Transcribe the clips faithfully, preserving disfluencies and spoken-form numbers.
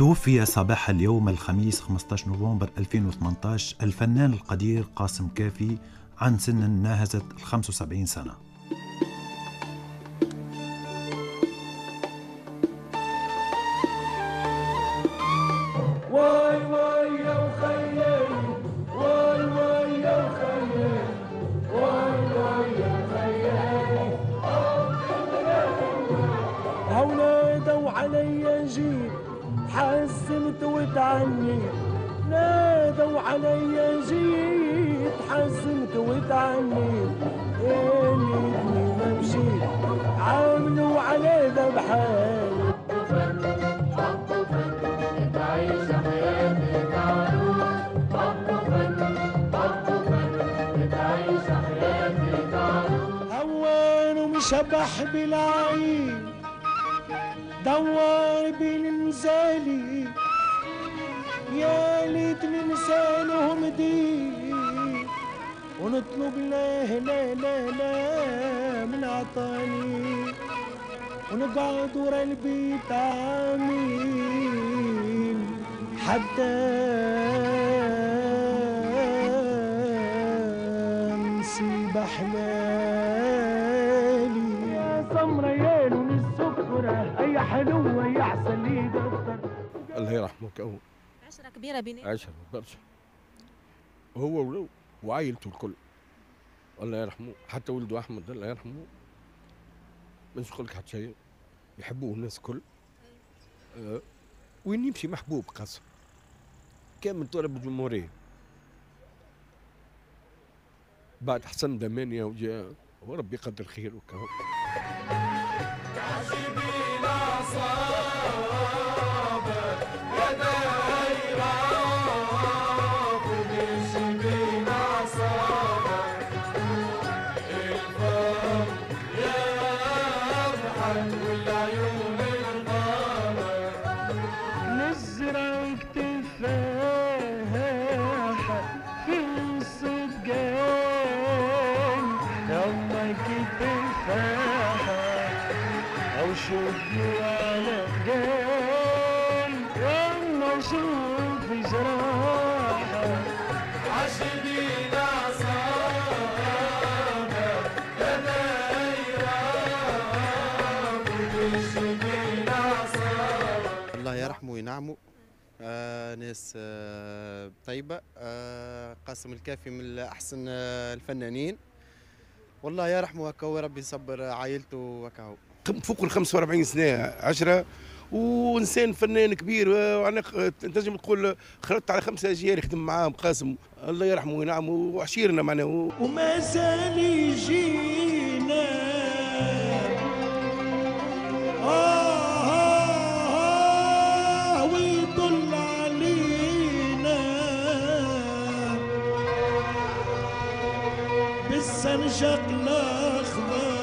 توفي صباح اليوم الخميس خمسة عشر نوفمبر ألفين وثمانية عشر الفنان القدير قاسم كافي عن سن ناهزت الخمسة وسبعين سنة. واي واي يا وخيي، واي واي يا وخيي، واي واي يا وخيي، هونادوا علي جيت حزنت وتعني، نادوا علي جيت حزنت وتعني، يا ليتني ما مشيت عاملوا على ذبحاني. هوان ومشبح بالعين دوار بالنزالي، يا ليتني نسالهم دي ونطلب لا لا لا لا من عطاني، ونقعد ورا البيت عامين حتى نسيب حلالي. يا سمرة يا لون السكرة أي حلوة يا عسل لي دفتر. الله يرحمه كهو عشرة كبيرة بيناتهم، عشرة برشا، هو ولو وعائلته الكل الله يرحمه، حتى ولده أحمد الله يرحمه. ما نقول لك حتى شيء، يحبوه الناس الكل. أه وين يمشي محبوب قاسم كامل تراب الجمهورية. بعد حسن دمانية وجاء وربي يقدر خير وكهو. نزرعك تفاحة في الصدقان، يمك تفاحة أو شوفني على جان، يما شوف جراحة عاشقين أعصابك يا دايرة وتشبين أعصابك. الله يرحمه وينعمه، آه ناس آه طيبة. آه قاسم الكافي من أحسن آه الفنانين، والله يرحمه وكهو، ربي يصبر عائلته وكهو. فوق ال خمسة وأربعين سنة عشرة، وإنسان فنان كبير، وأنا تنجم تقول خلطت على خمسة أجيال يخدم معاهم قاسم، الله يرحمه وينعمه وعشيرنا معناه. وما زال يجينا آه آه ويطل علينا بالسنجق الأخضر،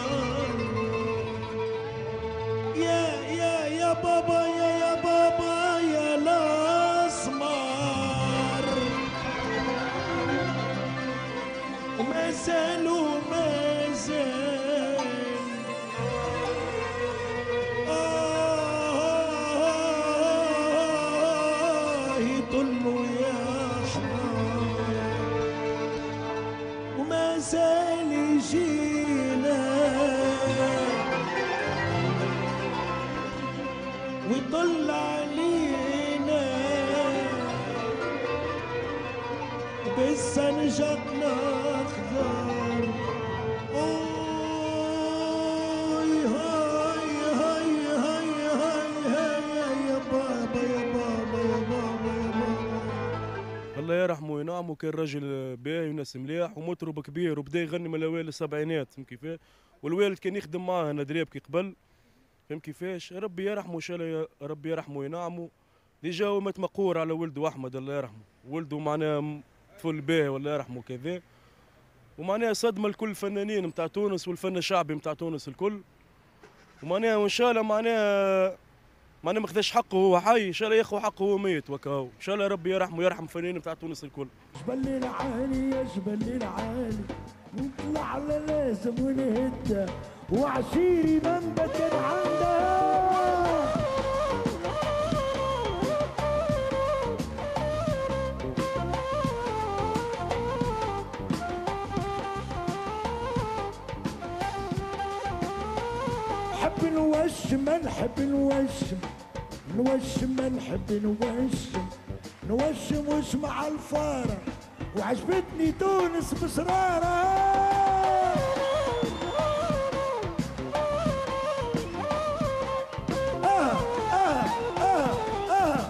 يا يا يا بابا يا يا بابا يا الأسمر، وما زال وما زال آه يطل ويحضر، وما زال يجينا ويطل علينا بالسنجق الأخضر. أوي هاي هاي هاي هاي هاي يا بابا يا بابا يا بابا يا بابا. الله يرحمه وينعمه، كان راجل باهي وناس مليح ومطرب كبير، وبدا يغني من الاوائل السبعينات، فهم كيفاه؟ والوالد كان يخدم معاه انا دريبكي قبل، فهم كيفاش؟ ربي يرحمه ان شاء الله، ربي يرحمه وينعمه. déjà هو مات مقهور على ولده احمد الله يرحمه، ولده معناه طفل باهي والله يرحمه كذا، ومعناها صدمة لكل الفنانين نتاع تونس والفن الشعبي نتاع تونس الكل. ومعناها وان شاء الله معناها معناها ما خذاش حقه وهو حي، ان شاء الله ياخذ حقه وهو ميت وكاهو، ان شاء الله ربي يرحمه ويرحم الفنانين نتاع تونس الكل. جبل العالي يا جبل العالي نطلع على لازم ونهدى، وعشيري منبت عندها. نحب نوشم نحب نوشم نوشم نحب نوشم نوشم واسمع الفارة وعجبتني تونس بسرارة. آه آه آه آه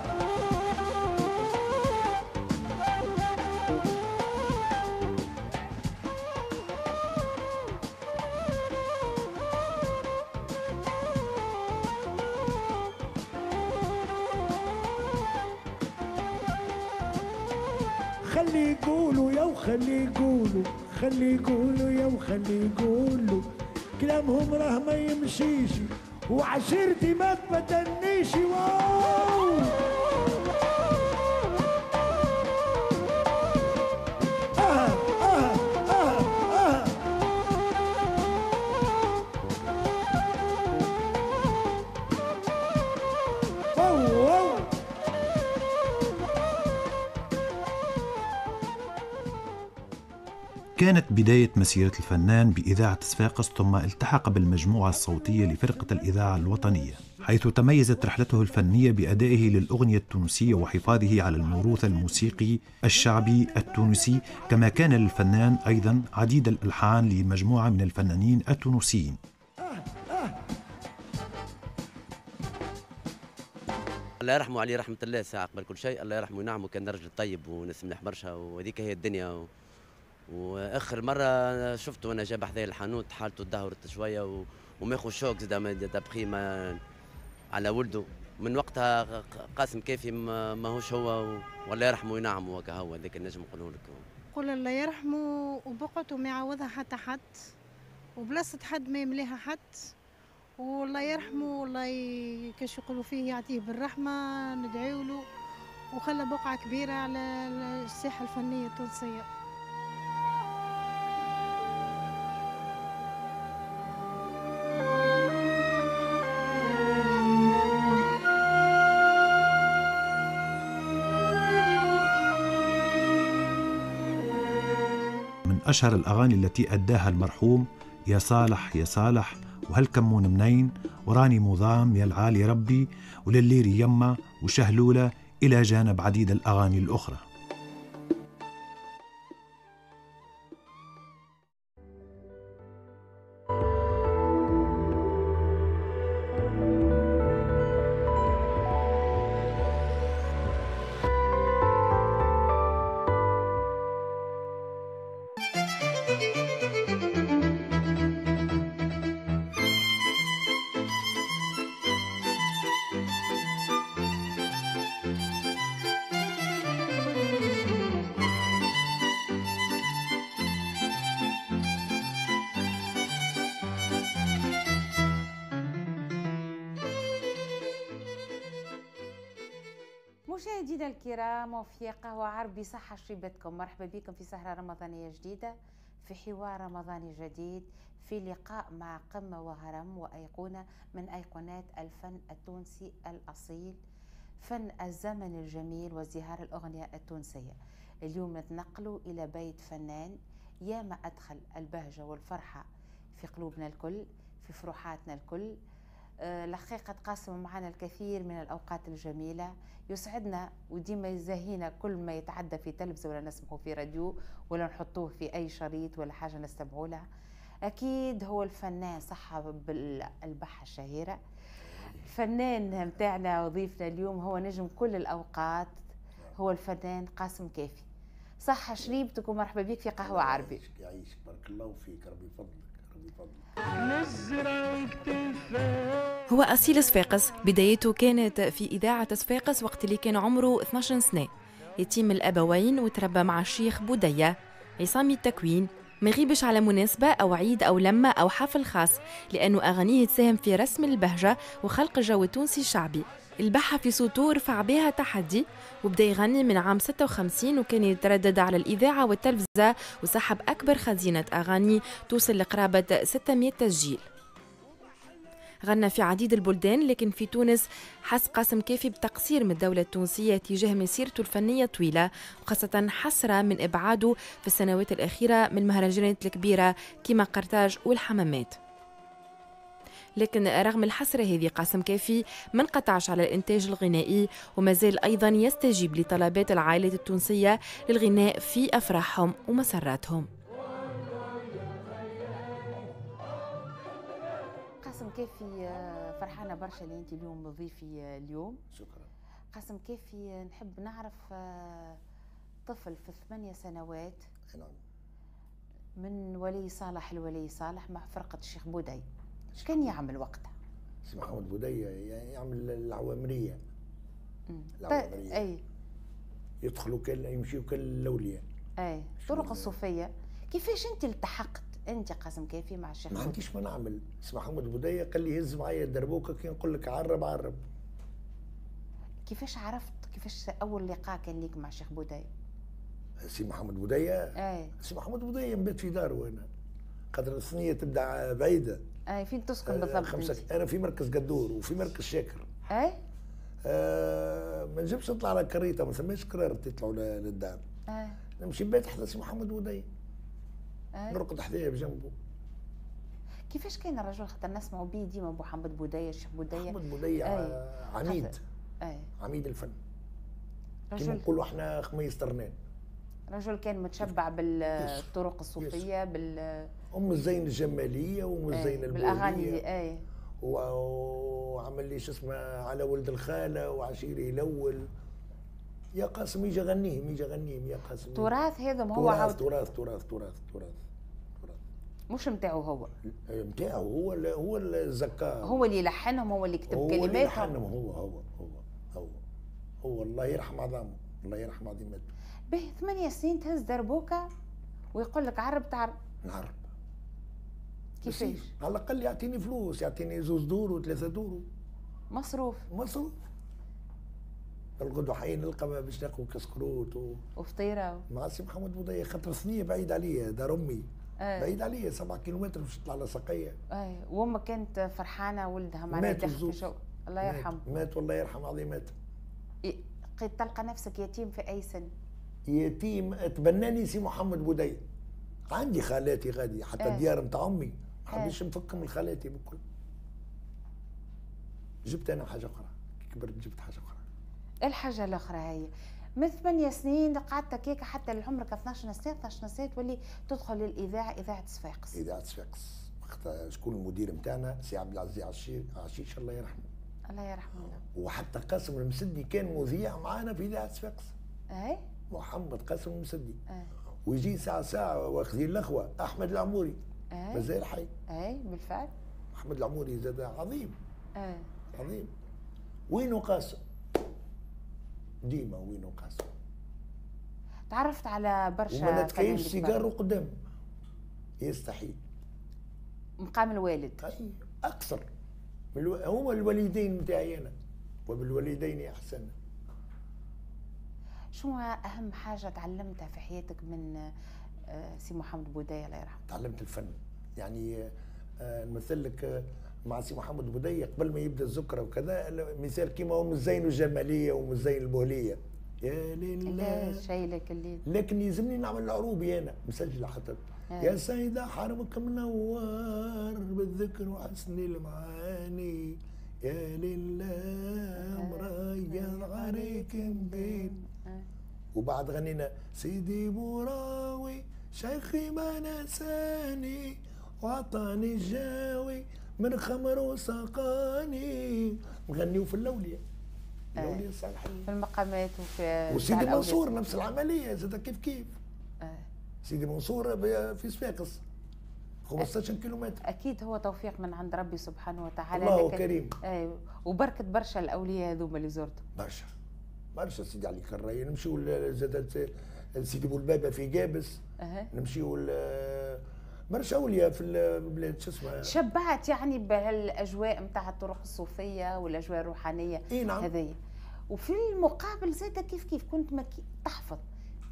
خلي يقولوا يا وخلي يقولوا، خلي يقولوا يا وخلي يقولوا، كلامهم راه ما يمشيش وعشيرتي ما تبدلنيش. واو آه آه آه آه واو واو. كانت بداية مسيرة الفنان بإذاعة صفاقس، ثم التحق بالمجموعة الصوتية لفرقة الإذاعة الوطنية، حيث تميزت رحلته الفنية بأدائه للأغنية التونسية وحفاظه على الموروث الموسيقي الشعبي التونسي. كما كان للفنان أيضا عديد الألحان لمجموعة من الفنانين التونسيين. الله يرحمه عليه رحمة الله ساعة قبل كل شيء، الله يرحمه وينعمه، كان رجل طيب وناس مليح برشا، وهذيك هي الدنيا. و... واخر مرة شفته وانا جاب حذايا الحانوت حالته تدهورت شوية و... وماخذ choc زاد d'après ما على ولده. من وقتها قاسم كافي ماهوش هو و... والله يرحمه وينعمه وكهو، هذاك النجم نقوله لك. قول الله يرحمه وبقعته ما يعوضها حتى حد، وبلاصه حد ما يمليها حد، والله يرحمه والله ي... كاش يقولوا فيه يعطيه بالرحمة، ندعيو له، وخلى بقعة كبيرة على الساحة الفنية التونسية. أشهر الأغاني التي أداها المرحوم يا صالح يا صالح، وهل كمون منين، وراني مضام، يا العالي ربي، ولليري يما، وشهلولة، إلى جانب عديد الأغاني الأخرى. مشاهدينا الكرام وفي قهوة عربي صحة شريبتكم، مرحبا بكم في سهرة رمضانية جديدة، في حوار رمضاني جديد، في لقاء مع قمة وهرم وأيقونة من أيقونات الفن التونسي الأصيل، فن الزمن الجميل وازدهار الأغنية التونسية. اليوم نتنقل إلى بيت فنان ياما أدخل البهجة والفرحة في قلوبنا الكل، في فروحاتنا الكل. الحقيقة تقاسم معنا الكثير من الأوقات الجميلة، يسعدنا وديما يزهينا كل ما يتعدى في تلفزة ولا نسمعه في راديو ولا نحطوه في أي شريط ولا حاجة نستمعوا لها. أكيد هو الفنان صاحب البحة الشهيرة، الفنان متاعنا وضيفنا اليوم هو نجم كل الأوقات، هو الفنان قاسم كافي. صحة شريبتك ومرحبا بك في قهوة عربي. يعيشك، بارك الله فيك، ربي يفضلك ربي يفضلك. هو أصيل صفاقس، بدايته كانت في إذاعة صفاقس وقت اللي كان عمره اثناش سنة. يتيم الأبوين وتربى مع الشيخ بودية عصامي التكوين. ما يغيبش على مناسبة أو عيد أو لمة أو حفل خاص، لأنه أغانيه تساهم في رسم البهجة وخلق الجو التونسي الشعبي. البحة في صوته رفع بها تحدي وبدا يغني من عام ستة وخمسين، وكان يتردد على الإذاعة والتلفزة وسحب أكبر خزينة أغاني توصل لقرابة ستمائة تسجيل. غنى في عديد البلدان، لكن في تونس حس قاسم كافي بتقصير من الدولة التونسية تجاه مسيرته الفنية الطويلة، وخاصة حسرة من إبعاده في السنوات الأخيرة من المهرجانات الكبيرة كما قرطاج والحمامات. لكن رغم الحسرة هذه قاسم كافي ما انقطعش على الإنتاج الغنائي، وما زال أيضا يستجيب لطلبات العائلات التونسية للغناء في أفراحهم ومسراتهم. قاسم كافي، فرحانة برشا اللي أنت اليوم ضيفي اليوم. شكرا. قاسم كافي، نحب نعرف طفل في ثمانية سنوات نعم من ولي صالح لولي صالح مع فرقة الشيخ بودي، ايش كان يعمل وقتها؟ سي محمد بودي يعمل العوامرية. العوامرية اي يدخلوا كل يمشيوا كل الأولياء. اي طرق الصوفية. كيفاش انت التحقت انت قاسم كافي مع الشيخ؟ ما عنديش ما نعمل. سي محمد بودي قال لي هز معايا الدربوكة كي نقول لك عرب عرب. كيفاش عرفت؟ كيفاش أول لقاء كان ليك مع الشيخ بودي؟ سي محمد بودية اي سي محمد بودية نبات في داره انا، خاطر الثنية تبدا بعيدة. اي فين تسكن بالضبط؟ خمسة. انا في مركز قدور وفي مركز شاكر. اي آه ما نجمش نطلع على كريطه، ما ثماش كرار تطلعوا للدار. اي نمشي نبات حدا سي محمد بودية. اي نرقد حدايا بجنبه. كيفاش كان الرجل؟ خاطر نسمعوا بيه ديما محمد بودية، الشيخ بودية. محمد بودية عميد. اي عميد الفن، كيما نقولوا احنا خميس ترنان. رجل كان متشبع بالطرق الصوفية، بال ام الزين الجمالية وام الزين البوليه بالاغاني. اي وعمل لي شو اسمه على ولد الخالة وعشيري الاول. يا قاسم يجي غنيهم، يجي غنيهم يا قاسم. تراث هذا ما هو تراث تراث تراث تراث تراث تراث مش نتاعو هو. نتاعو هو هو الزكاة، هو اللي لحنهم، هو اللي كتب كلماتهم، هو اللي لحنهم، هو هو هو هو هو الله يرحم عظامه، الله يرحم عظيمته. به ثمانية سنين تهز دربوكة ويقول لك عرب تعرب. نعرب. كيفاش؟ على الأقل يعطيني فلوس، يعطيني زوز دورو ثلاثة دورو. مصروف. مصروف. الغدوة حي نلقى باش ناكل كسكروت و... وفطيرة. مع سي محمد بودية، خاطر ثنية بعيد عليا، دار أمي. آه. بعيد عليا سبعة كيلومتر باش تطلع لسقية. اي وأمك كانت فرحانة ولدها معناها داخل في شو. الله يرحمه. مات والله يرحم عظيماته. تلقى نفسك يتيم في أي سن؟ يتيم تبناني سي محمد بودية. عندي خالاتي غادي حتى اه. الديار نتاع امي ما حبيتش اه. نفكهم من خالاتي بكل. جبت انا حاجة اخرى، كبرت جبت حاجة اخرى. الحاجة الاخرى هي من ثمانية سنين قعدت هكاك حتى لعمرك اثناش سنة، اثناش سنة تولي تدخل للاذاعة، اذاعة صفاقس. اذاعة صفاقس وقتها شكون المدير نتاعنا؟ سي عبد العزيز عشيش الله يرحمه. الله يرحمه. وحتى قاسم المسدي كان مذيع معانا في اذاعة صفاقس. اي محمد قاسم المسدي. أه. ويجي ساعة ساعة واخذين الأخوة أحمد العموري. أه. مازال حي. أي بالفعل. أحمد العموري زاد عظيم. أه. عظيم. وينو قاسم؟ ديما وينو قاسم؟ تعرفت على برشا وما نتكيفش سيجارو قدامه. يستحيل. مقام الوالد. أي أكثر. الو... هما الوالدين نتاعي أنا، وبالوالدين أحسن. شو أهم حاجة تعلمتها في حياتك من سي محمد بودية الله يرحمه؟ تعلمت الفن، يعني نمثل لك مع سي محمد بودية قبل ما يبدا الذكرى وكذا، مثال كيما أم الزين الجمالية وأم الزين البولية. يا لله شايلك الليل. لكن يلزمني نعمل العروبي أنا، مسجلة حتى. يا سيدة حرمك منور بالذكر وحسن المعاني، يا لله مريض عليك مبين. وبعد غنينا سيدي بوراوي شيخي ما نساني وعطاني الجاوي من خمر وسقاني. نغنيو في اللولية، اللولية الصالحية، في المقامات وفي وسيدي منصور نفس العملية زاد كيف كيف. آه. سيدي منصور في صفاقس خمسطاش كيلومتر. اكيد هو توفيق من عند ربي سبحانه وتعالى، الله كريم. اي وبركة برشا الاولياء هذوما اللي زرتهم برشا برشا. سيدي علي كراي نمشيو زاد سيدي بولبابه في قابس. أه. نمشيو برشا اولياء في البلاد شو اسمها. شبعت يعني بهالاجواء نتاع الطرق الصوفية والاجواء الروحانية. إيه نعم. هذيا. وفي المقابل زاد كيف كيف كنت مكي تحفظ،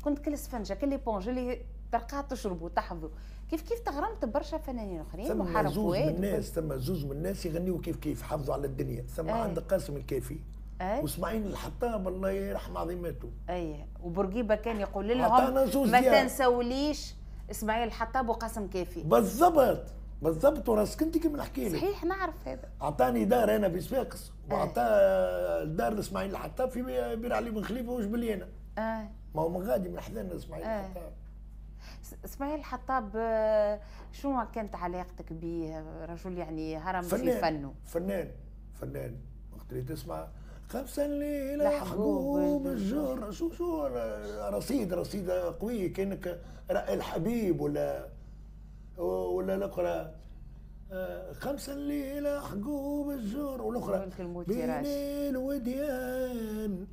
كنت كل سفنجه كل éponge اللي تلقاها تشرب وتحفظوا. كيف كيف تغرمت برشا فنانين اخرين محارب فؤاد. ثم زوز من الناس، ثم زوز من الناس يغنيوا كيف كيف حافظوا على الدنيا. ثم أي. عند قاسم الكافي أي. واسماعيل الحطاب الله يرحم عظيمته. اي وبورقيبه كان يقول لهم ما تنسوليش اسماعيل الحطاب وقاسم كافي بالضبط. بالضبط وراسك انت كيما نحكي لك. صحيح نعرف هذا. اعطاني دار انا في صفاقس واعطى دار لاسماعيل الحطاب في بير علي بن خليفة وجبليانه. اه ما هو من غادي من حذانا اسماعيل آه. الحطاب. اسماعيل الحطاب شنو كانت علاقتك به؟ رجل يعني هرم في فنه. فنان فنان وقت اللي تسمع خمسة الليلة حقوب الجر شو شو رصيد رصيد قوي كأنك الحبيب ولا ولا الأخرى خمسة الليلة حقوب الجر والأخرى بين الوديان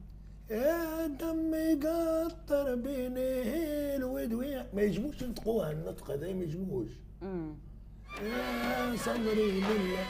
يا دم يقطر بين الوديان. ما يجموش ينطقوها النطق هذا ما يجموش. يا صبري بالله.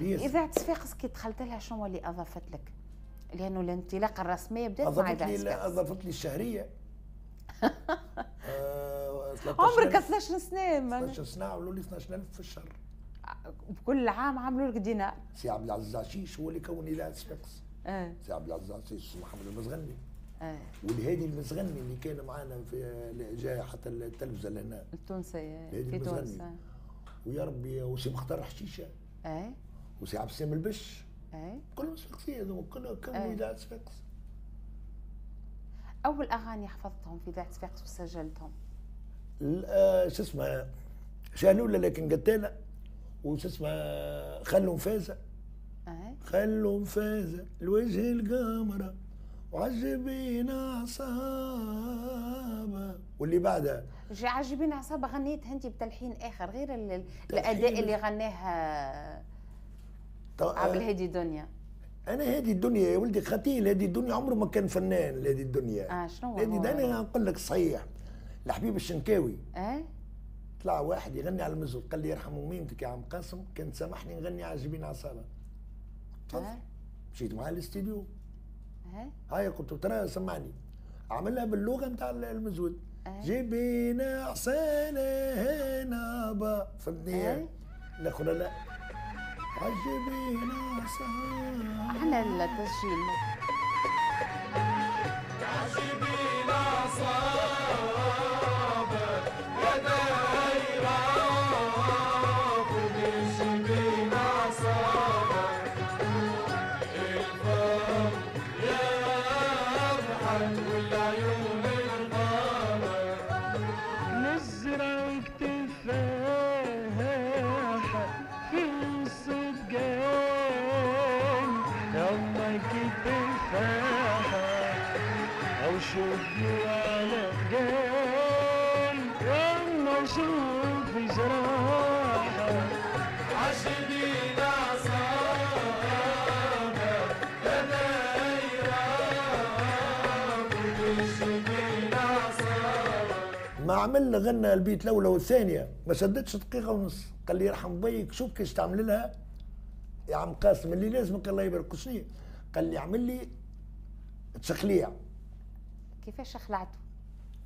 إذاعة صفاقس كي دخلت لها شنو اللي أضافت لك؟ لأنه الانطلاقة الرسمية بدات مع إذاعة صفاقس. أضافت لي الشهرية. آه عمرك اثناش سنة. اثناش سنة عملوا لي اثناش ألف في الشهر. بكل عام عملوا لك دينار. سي عبد العزيز عشيش هو اللي كون إذاعة صفاقس. آه. سي عبد العزيز عشيش محمد المزغني. آه. والهادي المزغني اللي كان معنا في جاي حتى التلفزة لهنا. التونسية في تونس. ويا ربي وسي مختار حشيشة. اه وسي عبد السلام البش. اي كلهم صفاقسية هذوما كلهم كانوا إذاعة صفاقس. أول أغاني حفظتهم في إذاعة صفاقس وسجلتهم؟ شو اسمها شانولة لكن قتالة، وشو اسمها خلوا مفازة. اي خلوا مفازة الوجه القمرة وعجبين عصابة. واللي بعدها عجبين عصابة غنيتها أنت بتلحين آخر غير الأداء اللي غناها عبد الهادي دنيا. انا هادي الدنيا يا ولدي خطيل، هادي الدنيا عمره ما كان فنان. هادي الدنيا اه شنو هادي؟ انا نقول لك صحيح الحبيب الشنكاوي اه طلع واحد يغني على المزود قال لي يرحم ميمتك يا عم قاسم كان سامحني نغني على جبين عصابة. تفضل. آه. مشيت معاه الاستديو. اه هاي قلت له ترى سمعني، عملها باللغة نتاع المزود. آه. جبين عصانه هنا با، فهمتني؟ آه. الاخرى لا عجبين عصابة. احنا التسجيل عجبين عصابة يا دايرة وجبين عصابة الفم يضحك والعيون الغابة نزرعك تفاحة في الصدقان يومك تفاحة أو شوفني على جان يلا شوف جراحة عاشقين عصابة يا دايرة وعاشقين عصابة. ما عمل غنى البيت الأولى والثانية ما شدتش دقيقة ونص، قال لي يرحم بيك شوف كيش تعمل لها يا عم قاسم اللي لازمك الله يبارك. شنو؟ قال لي اعمل لي تشخليع. كيفاش خلعته؟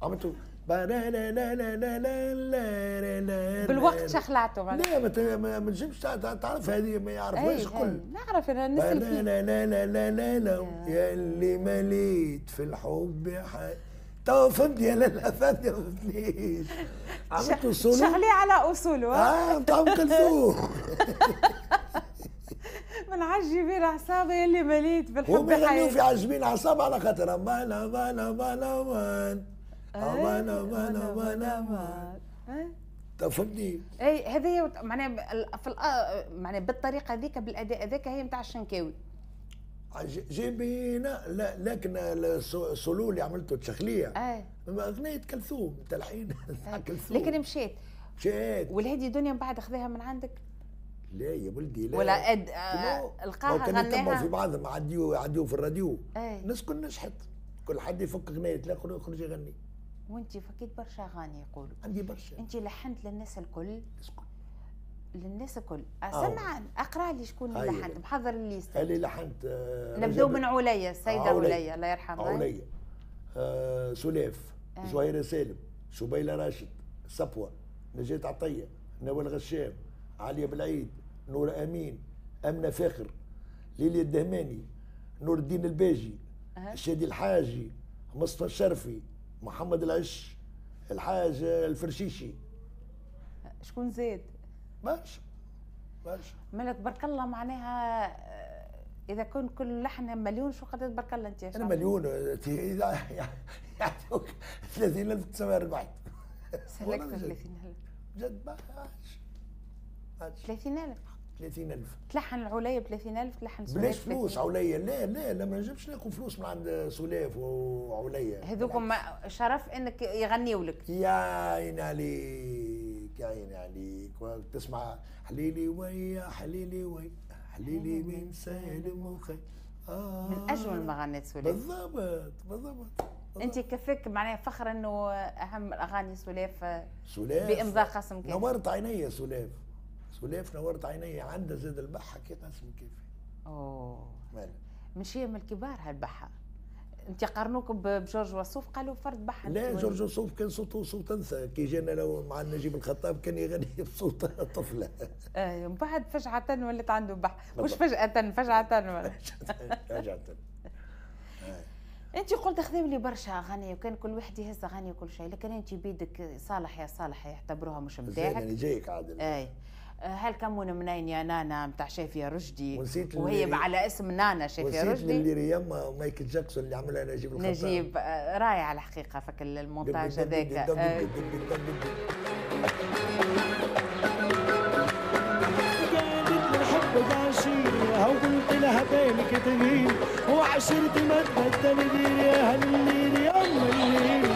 عملته لا لا لا لا لا لا لا لا بالوقت شخلعته. لا ما ما تنجمش تعرف هذه ما يعرفوهاش الكل. نعرف انا نسال فيه. لا لا لا لا لا لا يا اللي مليت في الحب تو فهمتني يا لاله، فهمتني ما فهمتنيش. عملت سولو شغلي على اصوله. اه نتاع ام كلثوم. من عجبين اعصابي اللي مليت بالحب. هم يغنيو في عجبين اعصاب على خاطر امان امان امان امان امان امان امان امان. فهمتني؟ اي هذه معناها في معناها بالطريقة هذيك بالاداء هذاك هي نتاع الشنكاوي. جيبينا لا، لكن السولو اللي عملته تشخليه اي اغنية كلثوم تلحين كلثوم. لكن مشيت مشيت والهادي دنيا من بعد خذاها من عندك؟ لا يا ولدي لا، ولا أد... آه... القاها غناها كانوا في بعضهم عديو عديو في الراديو. الناس كل نجحت، كل حد يفك اغنية الاخر يخرج يغني. وانت فكيت برشا اغاني يقولوا عندي برشا. انت لحنت للناس الكل؟ للناس الكل. سمع اقرا لي شكون اللي لحنت، محضر ال liste اللي لحنت. آه نبداو من عليا، السيدة عليا الله يرحمها. عليا آه سلاف، آه. زهيره سالم، شبيله راشد، صفوه، نجاة عطية، نوال غشام، عليا بالعيد، نور امين، امنه فاخر، ليليا الدهماني، نور الدين الباجي، أه. الشادي الحاجي، مصطفى الشرفي، محمد العش، الحاج الفرشيشي. شكون زاد؟ برشا برشا. مالك تبارك الله، معناها اذا كان كل لحن مليون شو قد تبارك الله انت؟ انا مليون يعطوك ثلاثين ألف تسمى ربحت. سلكت ثلاثين ألف جد ما عادش ثلاثين ألف. ثلاثين ألف تلحن العليا ب ثلاثين ألف، تلحن سلاف بلاش فلوس. عليا لا لا لا، ما نجمش ناخذ فلوس من عند سلاف وعليا. هذوكم شرف انك يغنيوا لك. يا عيني عليك يا عيني عليك، تسمع حليلي ويا حليلي ويا حليلي من سالم وخي. آه من اجمل ما غنت سلاف. بالضبط بالضبط. انت كفاك معناها فخر انه اهم الاغاني سلاف سلاف بامضاء قاسم كافي. نورت عيني سلاف، سلاف نورت عيني، عندها زاد البحه كي قاسم كافي. اوه من شيم الكبار هالبحه. انت قارنوك بجورج وسوف قالوا فرد بحه. لا جورج وسوف كان صوته صوت انثى، كي جانا لو مع نجيب الخطاب كان يغني بصوت طفله. اي ومن بعد فجعة ولات عنده بحه، مش فجأة فجعة فجعة. انت قلت خذوا لي برشا اغاني وكان كل واحد يهز اغاني وكل شيء، لكن انت بيدك صالح يا صالح يعتبروها مش نتاعك. انا جايك عادل. اي هل كمون منين يا نانا نتاع شافية رشدي، وهي على اسم نانا شافية رشدي. اللي ريما مايكل جاكسون اللي عملها نجيب الخطاب. نجيب رائع الحقيقة فك المونتاج هذاك. قالت الحب عشيرها وقلت لها بالك تغير وعشرتي ما تبدل غير يا هالليل يا ام الليل.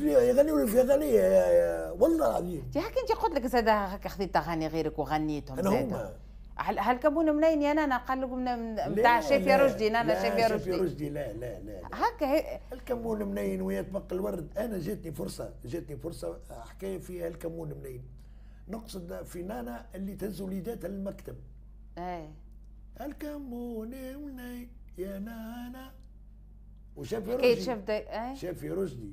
يغنيوا في اغاني والله العظيم. انت هكا انت قلت لك زاد هكا خذيت اغاني غيرك وغنيتهم انا هما. هل كمون منين يا نانا قال لكم نتاع شافية رشدي؟ نانا شافية رشدي. شافية رشدي لا لا لا هكا الكمون منين ويا تبقى الورد. انا جاتني فرصة، جاتني فرصة حكاية فيها الكمون منين. نقصد في نانا اللي تهز وليداتها للمكتب. اي الكمون منين يا نانا. وشافي رشدي. شافي رشدي.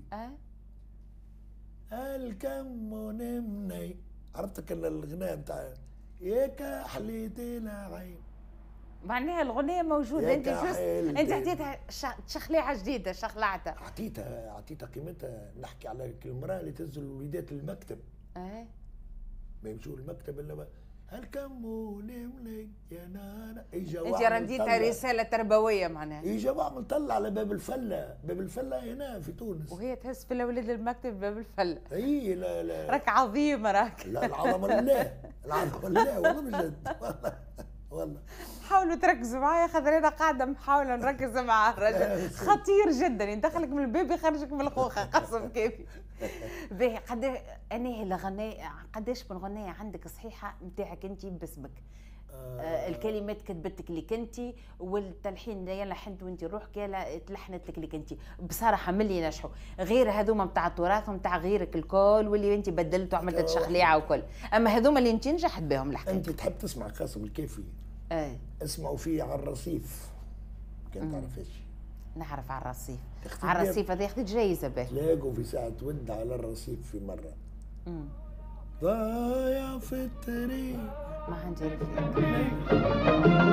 اي الكمون مني. عرفتك الغناء نتاع ياك حليتي العين، معناها الغنية موجودة. انت juste انت عطيتها شخليعة جديدة، شخلعتها، عطيتها عطيتها قيمتها. نحكي على المرأة اللي تهز الوليدات للمكتب. ايه ما يمشوا للمكتب الا الكمون مني يا نانا. اجا انت رديتها رسالة تربوية معناها. اجا واعمل طلع على باب الفلة، باب الفلة هنا في تونس، وهي تهز في الاولاد للمكتب باب الفلة. اي لا لا راك عظيمة راك. لا العظمة لله، العظمة لله والله بجد والله والله. حاولوا تركزوا معايا خاطر انا قاعدة محاولة نركز مع الرجل خطير جدا، يدخلك من الباب يخرجك من الخوخه قسم كافي. باهي قد انا الغناء قداش من غنايه عندك صحيحه نتاعك انت باسمك؟ آه الكلمات كتبتك لك انت، والتلحين يا لحنت وانت روحك يا تلحنت لك لك انت. بصراحة من اللي نجحوا غير هذوما نتاع التراث ونتاع غيرك الكل واللي انت بدلت وعملت تشخليعه وكل، اما هذوما اللي انت نجحت بهم الحقيقة. انت تحب تسمع قاسم الكافي؟ ايه اسمعوا فيه على الرصيف كان تعرفش. نعرف على الرصيف، على الرصيف هذا ياخذ جايزة به. تلاقوا في ساعة ود على الرصيف في مرة. امم ضايع في الطريق ما عندي رفيق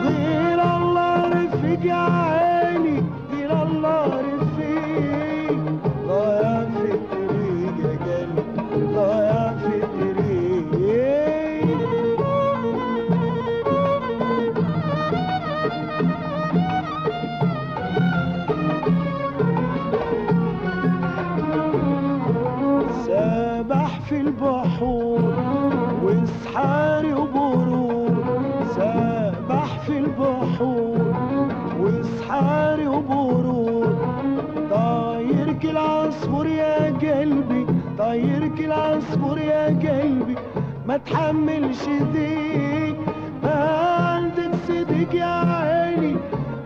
غير الله رفيق يا عيني، غير الله رفيق، ضايع في الطريق يا قلبي، ضايع في الطريق. سبح في البحور وسحاري وبرور، سبح في البحور وسحاري وبرور، طاير كالعصفور يا قلبي، طاير كالعصفور يا قلبي، ما تحملش ضيق، ما عندك صديق يا عيني،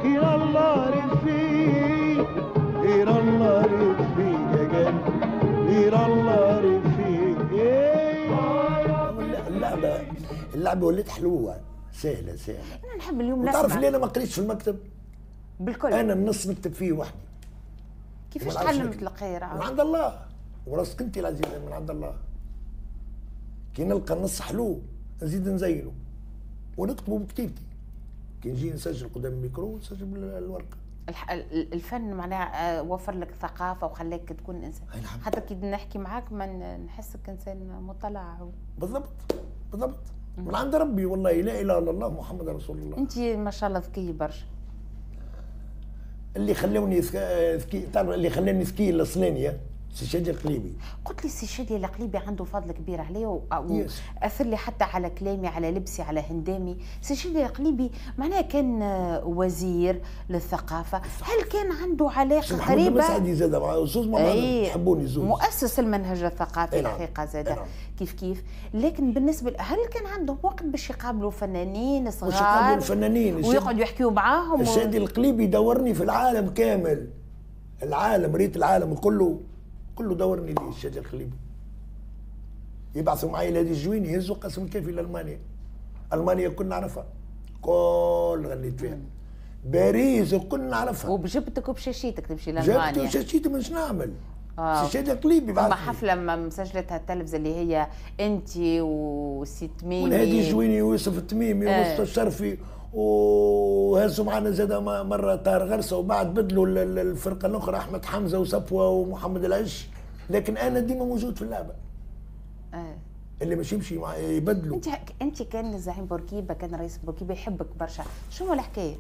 غير الله رفيق، غير الله رفيق يا قلبي، غير الله رفيق. اللعبة اللعبة ولات حلوة سهلة سهلة. أنا نحب اليوم نسمع. تعرف ليه أنا ما قريتش في المكتب؟ بالكل. أنا النص نكتب فيه وحدي. كيفاش تعلمت القراءة؟ من عند الله، وراسك أنت العزيزة من عند الله. كي نلقى النص حلو نزيد نزينه ونكتبه بكتيبتي. كي نجي نسجل قدام الميكرو نسجل بالورقة. الفن معناها وفر لك ثقافة وخلاك تكون إنسان، حتى كي نحكي معاك ما نحسك إنسان مطلع و... بالضبط بالضبط، من عند ربي والله، لا إله إلا الله محمد رسول الله. أنت ما شاء الله ذكية برشا. اللي خلوني ذكي، تعرف اللي خلاني ذكي الأصلانية سي شادي القليبي. قلت لي سي شادي القليبي عنده فضل كبير عليه واثر لي حتى على كلامي، على لبسي، على هندامي. سي شادي القليبي معناها كان وزير للثقافة، هل كان عنده علاقة قريبه؟ محمد مسعدي زاد مع زوز مع بعض يحبوني زوز، مؤسس المنهج الثقافي الحقيقة زاد كيف كيف. لكن بالنسبة هل كان عندهم وقت باش يقابلوا فنانين صغار؟ باش يقابلوا الفنانين ويقعدوا يحكيوا معاهم؟ الشادي القليبي دورني في العالم كامل، العالم، ريت العالم كله كله دورني ليه الشادي القليبي. يبعثوا معي لهادي الجويني يهزوا قسم الكافي لالمانيا. المانيا كنا نعرفها، كل غنيت فيها. باريس كنا نعرفها. وبجبتك وبشاشيتك تمشي لالمانيا. جبتي وشاشيتي مش نعمل. آه. الشادي القليبي بعثني. حفلة مسجلتها التلفزة اللي هي انت وسي تميمي والهادي الجويني ويوسف التميمي آه. ومصطفى الشرفي، وهزوا معنا زاد مرة طار غرسه، وبعد بدلوا الفرقة الاخرى احمد حمزة وصفوه ومحمد العش، لكن انا ديما موجود في اللعبة. اه اللي مش يمشي مع يبدلوا. انت انت كان زعيم بورقيبة، كان رئيس بورقيبة يحبك برشا، شنو الحكاية؟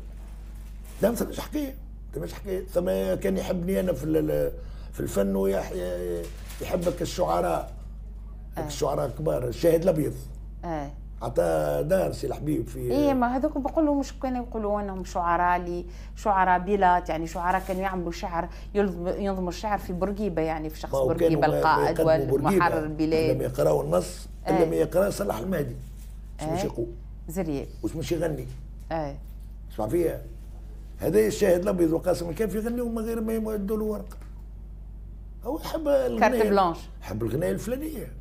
لا ما ثماش حكاية، ما ثماش حكاية، ثم كان يحبني انا في في الفن ويحبك الشعراء. آه. الشعراء الكبار، الشاهد الابيض. اه عطاه دار سي الحبيب في ايه، ما هذوك بيقولوا مش كانوا يقولوا انهم شعراء لي شعراء بيلات، يعني شعراء كانوا يعملوا شعر، ينظموا الشعر في بورقيبة، يعني في شخص بورقيبة القائد والمحرر البلاد. لما يقراوا النص، آه. لما يقرا صلاح المهدي واش مش يقول زرياب واش مش يغني. اه اسمع فيها هذا الشاهد الابيض وقاسم الكافي يغنيوا من غير ما يدوا له ورقة. هو يحب الغنايه carte blanche، يحب الغنايه الفلانية.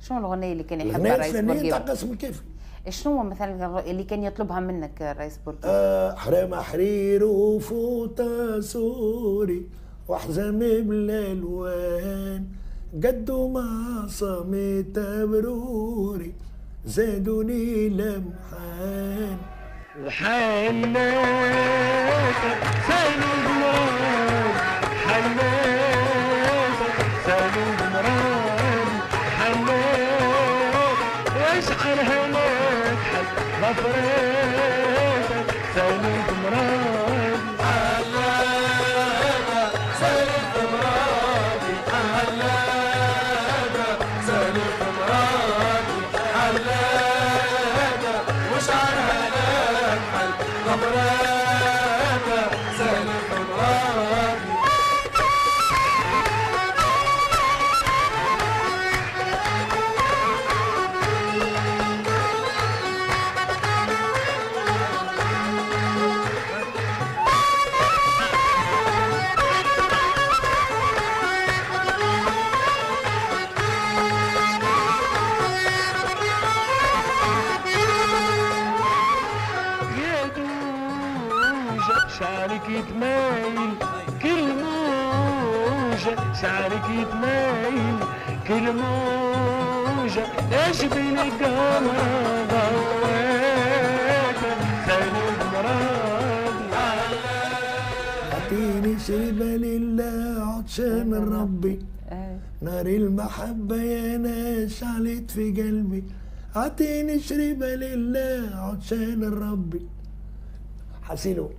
شنو الغنية اللي كان يحبها الرئيس بورقيبة؟ الغنية تاع قاسم الكافي. شنو مثلا اللي كان يطلبها منك الرئيس بورقيبة؟ آه حرام حرير وفوطة سوري وحزام بالالوان، قدوا مع صمت بروري زادوني لمحان. وحناتك سالوا مراد، حناتك سالوا مراد، حناتك واشعر هناك حل غفراتك سالوا مراد. حناتك سالوا مرادي، حناتك سالوا مرادي، حناتك واشعر هناك حل غفراتك. موجة شعرك يتمايل كل موجة شعرك يتمايل كل موجة ايش بين القمر ضويته سالي مرادي. اعطيني شربة لله عطشان من ربي، نار المحبة يا ناس عليت في قلبي، اعطيني شربة لله عطشان ربي. حسيلو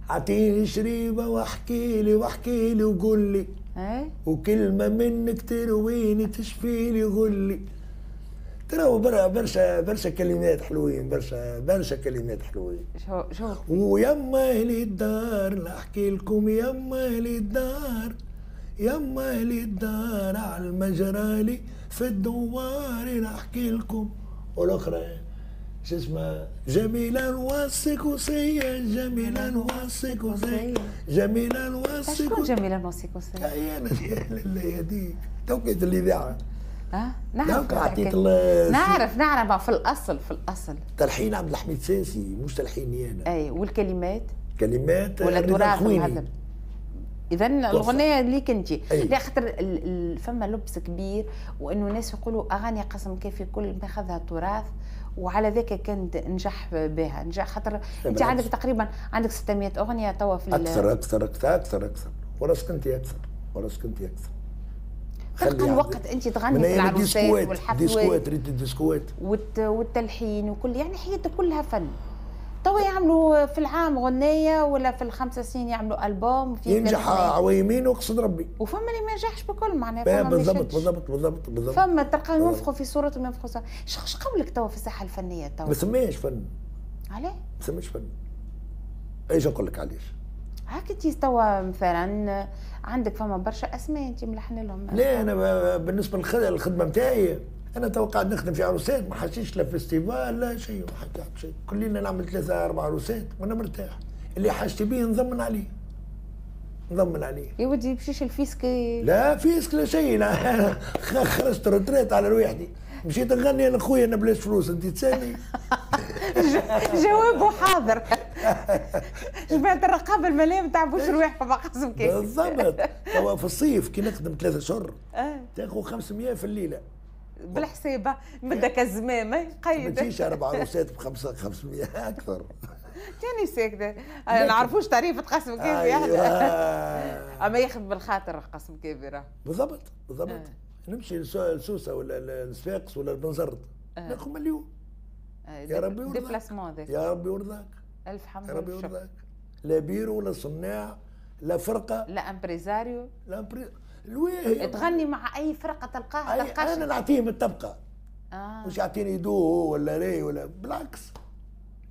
اعطيني شريبة واحكي لي واحكي لي وقول لي، وكلمة منك ترويني تشفي لي غلي. ترى برشا برشا كلمات حلوين، برشا برشا كلمات حلوين. شو شو ويما اهلي الدار نحكي لكم، يما اهلي الدار، يما اهلي الدار على المجرالي في الدوار نحكي لكم. والاخرى شو اسمها؟ جميلة نوصيك وصية، جميلة نوصيك وصية، جميلة نوصيك. شكون جميلة نوصيك وصية؟ أنا الله يهديك، توقيت الإذاعة. اه نعرف عطيت نعرف نعرف في الأصل في الأصل تلحين عبد الحميد ساسي مش تلحيني أنا. أي والكلمات؟ كلمات ولا تراث مهذب. اذا الاغنية ليك انت. لا خاطر فما لبس كبير وانه الناس يقولوا اغاني قاسم كافي كل ما اخذها تراث، وعلى ذاك كان نجح بها، نجح خاطر انت عندك تقريبا عندك ستمية اغنية توا في اكثر اكثر اكثر اكثر اكثر وراسك انت اكثر، وراسك انت اكثر. تلقى الوقت انت تغني في العروسات والحفلات ديسكوات، ريت الديسكوات والتلحين وكل، يعني حياتك كلها فن. توا يعملوا في العام غنية ولا في الخمسة سنين يعملوا ألبوم في ينجح عويمين وقصد ربي، وفما اللي ما ينجحش بكل معناها. بالضبط بالضبط بالضبط بالضبط. فما تلقاهم ينفخوا في صورتهم ينفخوا صورتهم. اش قولك توا في الساحة الفنية توا؟ ما سميش فن. علاه؟ ما سميش فن. ايش نقول لك علاش؟ هاك انت توا مثلا عندك فما برشا اسماء انت ملحن لهم. لا انا بالنسبة للخدمة نتاعي انا تو قاعد نخدم في عروسات، ما حسيتش لا festival لا شيء، ما حتى شيء، كل ليلة نعمل ثلاثة اربع عروسات وانا مرتاح، اللي حاجتي بيه نضمن عليه. نضمن عليه. يا ودي يمشيش ال fisc. لا fisc لا شيء، لا خرجت retraite على روحتي، مشيت نغني انا خويا انا بلاش فلوس، انت تسالني. جوابه حاضر. جماعة الرقابة المالية ما تعبوش رواحكم مع قاسم كافي. بالضبط، توا في الصيف كي نخدم ثلاثة اشهر تاخذ خمسمية في الليلة. بالحسابه بدك الزمامه قيد. ما تجيش اربع عروسات بخمسة خمسمية اكثر. كاني ساكته، ما نعرفوش تعريف قاسم كافي. أيوة. اما ياخذ بالخاطر قاسم كافي راه. بالضبط بالضبط. آه. نمشي لسوسه ولا لصفاقس ولا لبنزرت آه. ناخذ مليون. آه. يا ربي يرضاك. يا ربي يرضاك. الف حمد يا ربي يرضاك. لا بيرو لا صناع لا فرقه لا impresario لا impré الواهي. تغني مع اي فرقه تلقاها تلقاش. انا نعطيهم الطبقة. آه. مش يعطيني دو ولا ري ولا، بالعكس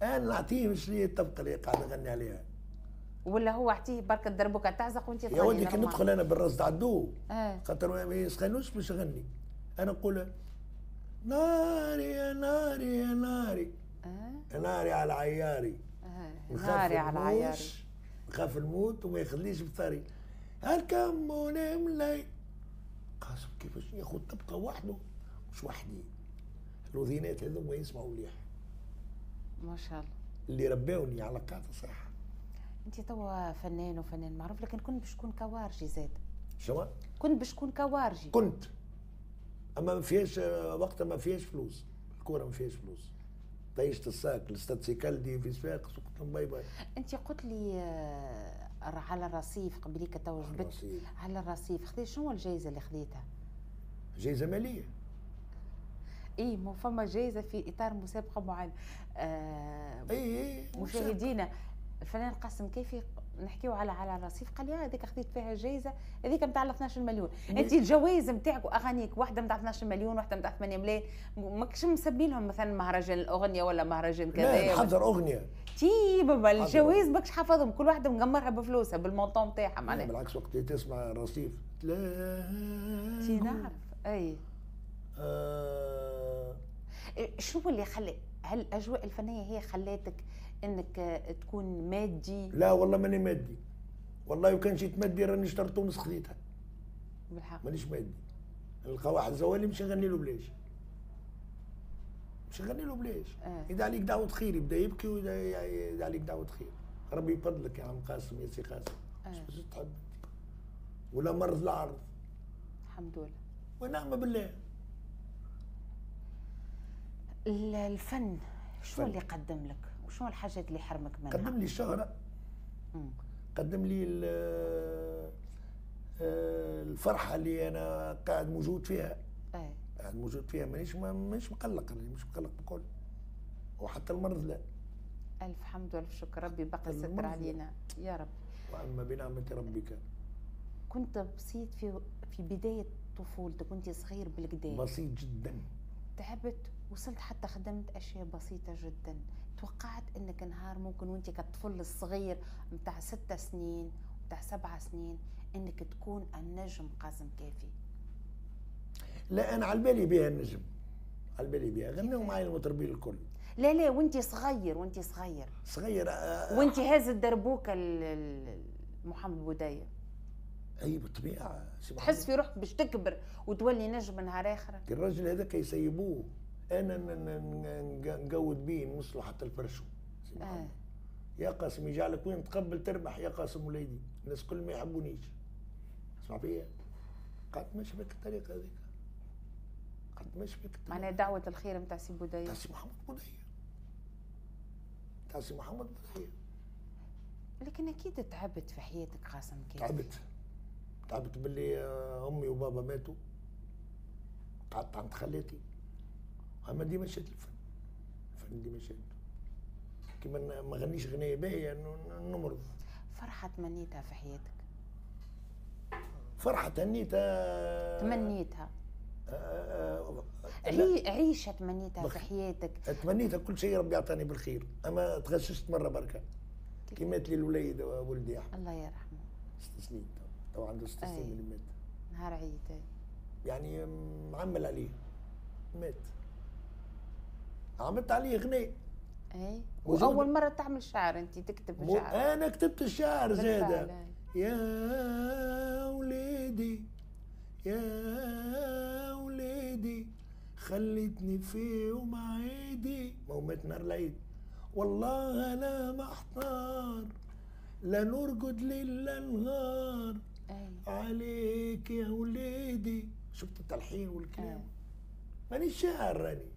انا نعطيهم شنو هي الطبقة اللي قاعد نغني عليها. ولا هو اعطيه بركة دربوكه تعزق وانت تغني. يا ولدي كي ندخل انا بالراس تاع الدو آه. خاطر ما يسخنوش باش نغني، انا نقول ناري يا ناري يا ناري آه. ناري على عياري آه. ناري على عياري، نخاف نموت وما يخليش بثاري هالكم ملاي. قاسم كيفاش ياخذ طبقه وحده مش وحدي. الوذينات هذوما يسمعوا مليح ما شاء الله، اللي رباوني على قاعدة صح. انت توا فنان وفنان معروف، لكن كنت باش تكون كوارجي زاد. شنو؟ كنت باش تكون كوارجي. كنت، اما ما فيهاش وقتها، ما فيهاش فلوس، الكورة ما فيهاش فلوس. طيشت الساك الاستاد سيكالدي في صفاقس وقلت لهم bye bye. انت قلت لي على الرصيف قبليك تو جبت على الرصيف، خذيت شنو الجائزة اللي خذيتها؟ جائزة ماليه. اي مو فما جائزة في اطار مسابقة معينة. آه اي اي مشاهدينا الفنان قاسم كافي نحكيو على على الرصيف، قال لي هذيك خذيت فيها جائزة، هذيك نتاع اثناش مليون. انت الجوائز نتاعك واغانيك واحدة نتاع اثناش مليون، واحدة نتاع ثمانية ملايين، ماكش مسمي لهم مثلا مهرجان الاغنية ولا مهرجان كذا؟ لا نحضر اغنية. تي بابا الجوائز ماكش حافظهم، كل واحدة مقمرها بفلوسها بال montant نتاعها معناها. بالعكس وقت تسمع الرصيف تي نعرف. اي آه. شنو اللي خلى هل الاجواء الفنية هي خلاتك انك تكون مادي؟ لا والله ماني مادي، والله لو كان جيت مادي راني اشتريت تونس خذيتها. بالحق مانيش مادي. نلقى واحد زوالي مش نغني له بلاش، مش نغني له بلاش. آه. يدعي عليك دعوة خير، يبدا يبكي ويدعي عليك دعوة خير. ربي يفضلك يا عم قاسم يا سي قاسم. اش تحب ولا مرض العرض. الحمد لله ونعم بالله. الفن شو اللي قدم لك وشو الحاجات اللي حرمك منها؟ قدم لي الشهرة، قدم لي الفرحة اللي أنا قاعد موجود فيها. أي. قاعد موجود فيها، مانيش مانيش مقلق، مش مقلق بكل، وحتى المرض لا. ألف حمد وألف شكر، ربي بقى ستر علينا يا رب. وأما بنعمة ربك. كنت بسيط في في بداية طفولتك، كنت صغير بالكدا. بسيط جدا. تعبت، وصلت حتى خدمت أشياء بسيطة جدا. توقعت أنك نهار ممكن وأنت كطفل الصغير متاع ستة سنين متاع سبعة سنين أنك تكون النجم قاسم كافي؟ لا أنا على بالي بها النجم، على بالي بها، غنوا معي المطربين الكل. لا لا وأنت صغير، وأنت صغير صغير آه وأنت هاز الدربوكة محمد بودية. اي بالطبيعة. تحس في روحك باش تكبر وتولي نجم نهار اخر؟ الراجل هذاك يسيبوه، انا نقود بيه نوصلوا حتى الفرشو. آه. يا قاسم يجعلك وين تقبل تربح يا قاسم وليدي، الناس كل ما يحبونيش. اسمع فيا، قعدت ماشي بك الطريقة هذيك، قعدت ماشي بك الطريقة. معناها دعوه الخير نتاع سي بودية، نتاع سي محمد بودية، نتاع سي محمد بودية. لكن اكيد تعبت في حياتك قاسم كيف؟ تعبت، تعبت باللي امي وبابا ماتوا، قعدت عند خالتي، اما ديما شدت الفن، الفن ديما شدته. كيما ما غنيش غنية باهية نمرض. فرحة تمنيتها في حياتك؟ فرحة تمنيتها تمنيتها آه آه عيشة تمنيتها في حياتك؟ تمنيتها كل شيء ربي أعطاني بالخير، أما تغششت مرة بركة كي مات لي الوليد ولدي أحمد الله يرحمه. ست سنين تو عنده ست سنين اللي مات. نهار عيد يعني معمل عليه مات، عملت عليه غناء. اي واول مرة تعمل شعر انت، تكتب شعر؟ انا كتبت الشعر زاده. يا وليدي يا وليدي خليتني في يوم عيدي، ما هو مات نهار العيد. والله انا محتار لا نرقد ليل لا نهار عليك يا وليدي. شفت التلحين والكلام؟ مانيش شاعر راني،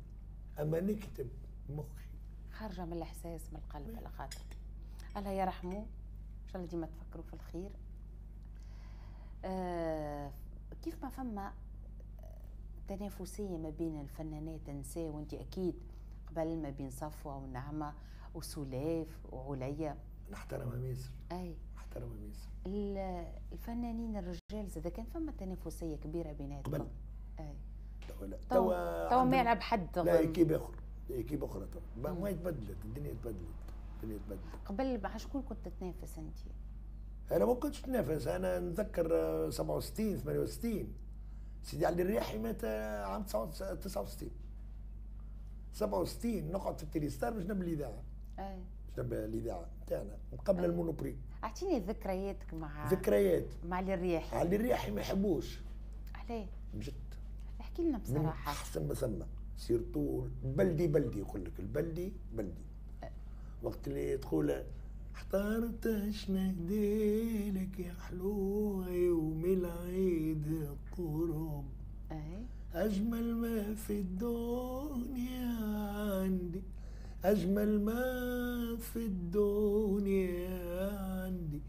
اما نكتب مخي خارجه من الاحساس من القلب. على خاطر الله يرحمه، ان شاء الله ديما تفكروا في الخير. آه كيف ما فما تنافسية ما بين الفنانات النساء، وانت اكيد قبل ما بين صفوه ونعمه وسلاف وعليا. نحترمها ميسر. اي نحترمها ميسر. الفنانين الرجال زاد كان فما تنافسية كبيرة بيناتهم قبل. اي توا لا، توا توا ما يلعب حد، لا équipe اخر، équipe اخرى توا ما تبدلت الدنيا، تبدلت الدنيا تبدلت. قبل مع شكون كنت تتنافس انت؟ انا ما كنتش نتنافس، انا نتذكر سبعة وستين ثمانية وستين سيدي علي الرياحي مات عام تسعة وستين سبعة وستين، نقعد في التليستار باش نبني الاذاعة. اي باش نبني الاذاعة نتاعنا قبل ال Monoprix. اعطيني ذكرياتك مع ذكريات مع علي الرياحي. علي الرياحي ما يحبوش. علاه؟ بجد احكي لنا بصراحة. احسن ما ثم surtout بلدي بلدي، يقول لك البلدي بلدي. وقت اللي تقول احترت اش نهديلك يا حلوة يوم العيد قرب، اجمل ما في الدنيا عندي، اجمل ما في الدنيا عندي،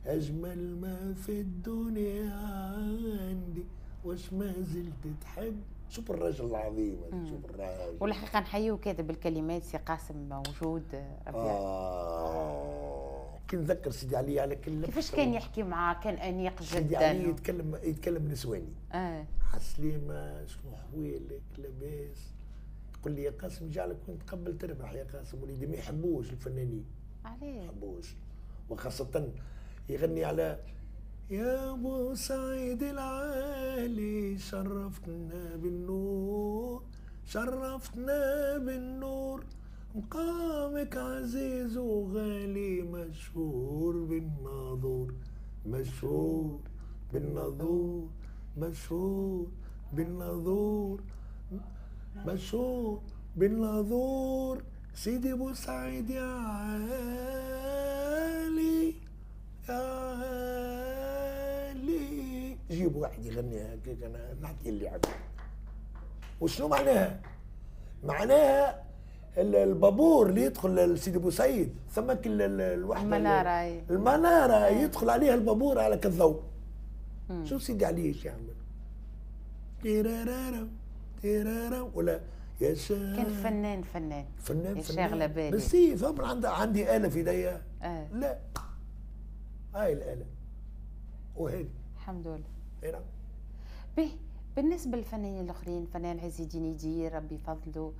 اجمل ما في الدنيا عندي، واش ما زلت تحب. شوف الرجل العظيم، شوف الراجل. والحقيقة نحييه كاتب الكلمات سي قاسم موجود. ربي آه كي نذكر سيدي علي على كل كيفاش كان يحكي معاه، كان انيق جدا. سيدي علي يتكلم يتكلم نسواني. اه عسليمه شنو حوالك لاباس؟ يقول لي يا قاسم جعلك كنت تقبل تربح يا قاسم وليدي. ما يحبوش الفنانين. علاه؟ ما يحبوش، وخاصة يغني على يا ابو سعيد العالي شرفتنا بالنور، شرفتنا بالنور، مقامك عزيز وغالي، مشهور بالناظور، مشهور بالناظور، مشهور بالناظور، مشهور بالناظور، سيدي ابو سعيد يا عالي. جيب واحد يغني هكاك، انا نعطي اللي عندي. وشنو معناها؟ معناها البابور اللي يدخل لسيدي بوسعيد ثمك الوحدة المنارة، المنارة يدخل عليها البابور على كالضوء. شو سيدي علي ايش يعمل؟ تيرارارا تيرارا ولا يا شا... كان فنان فنان فنان شاغله بالي بس فهم عندي عندي آلة في ايديا. آه. لا هاي الآلة وهذه الحمد لله. اي نعم. به بالنسبة للفنانين الآخرين، فنان عز الدين يدير ربي يفضله،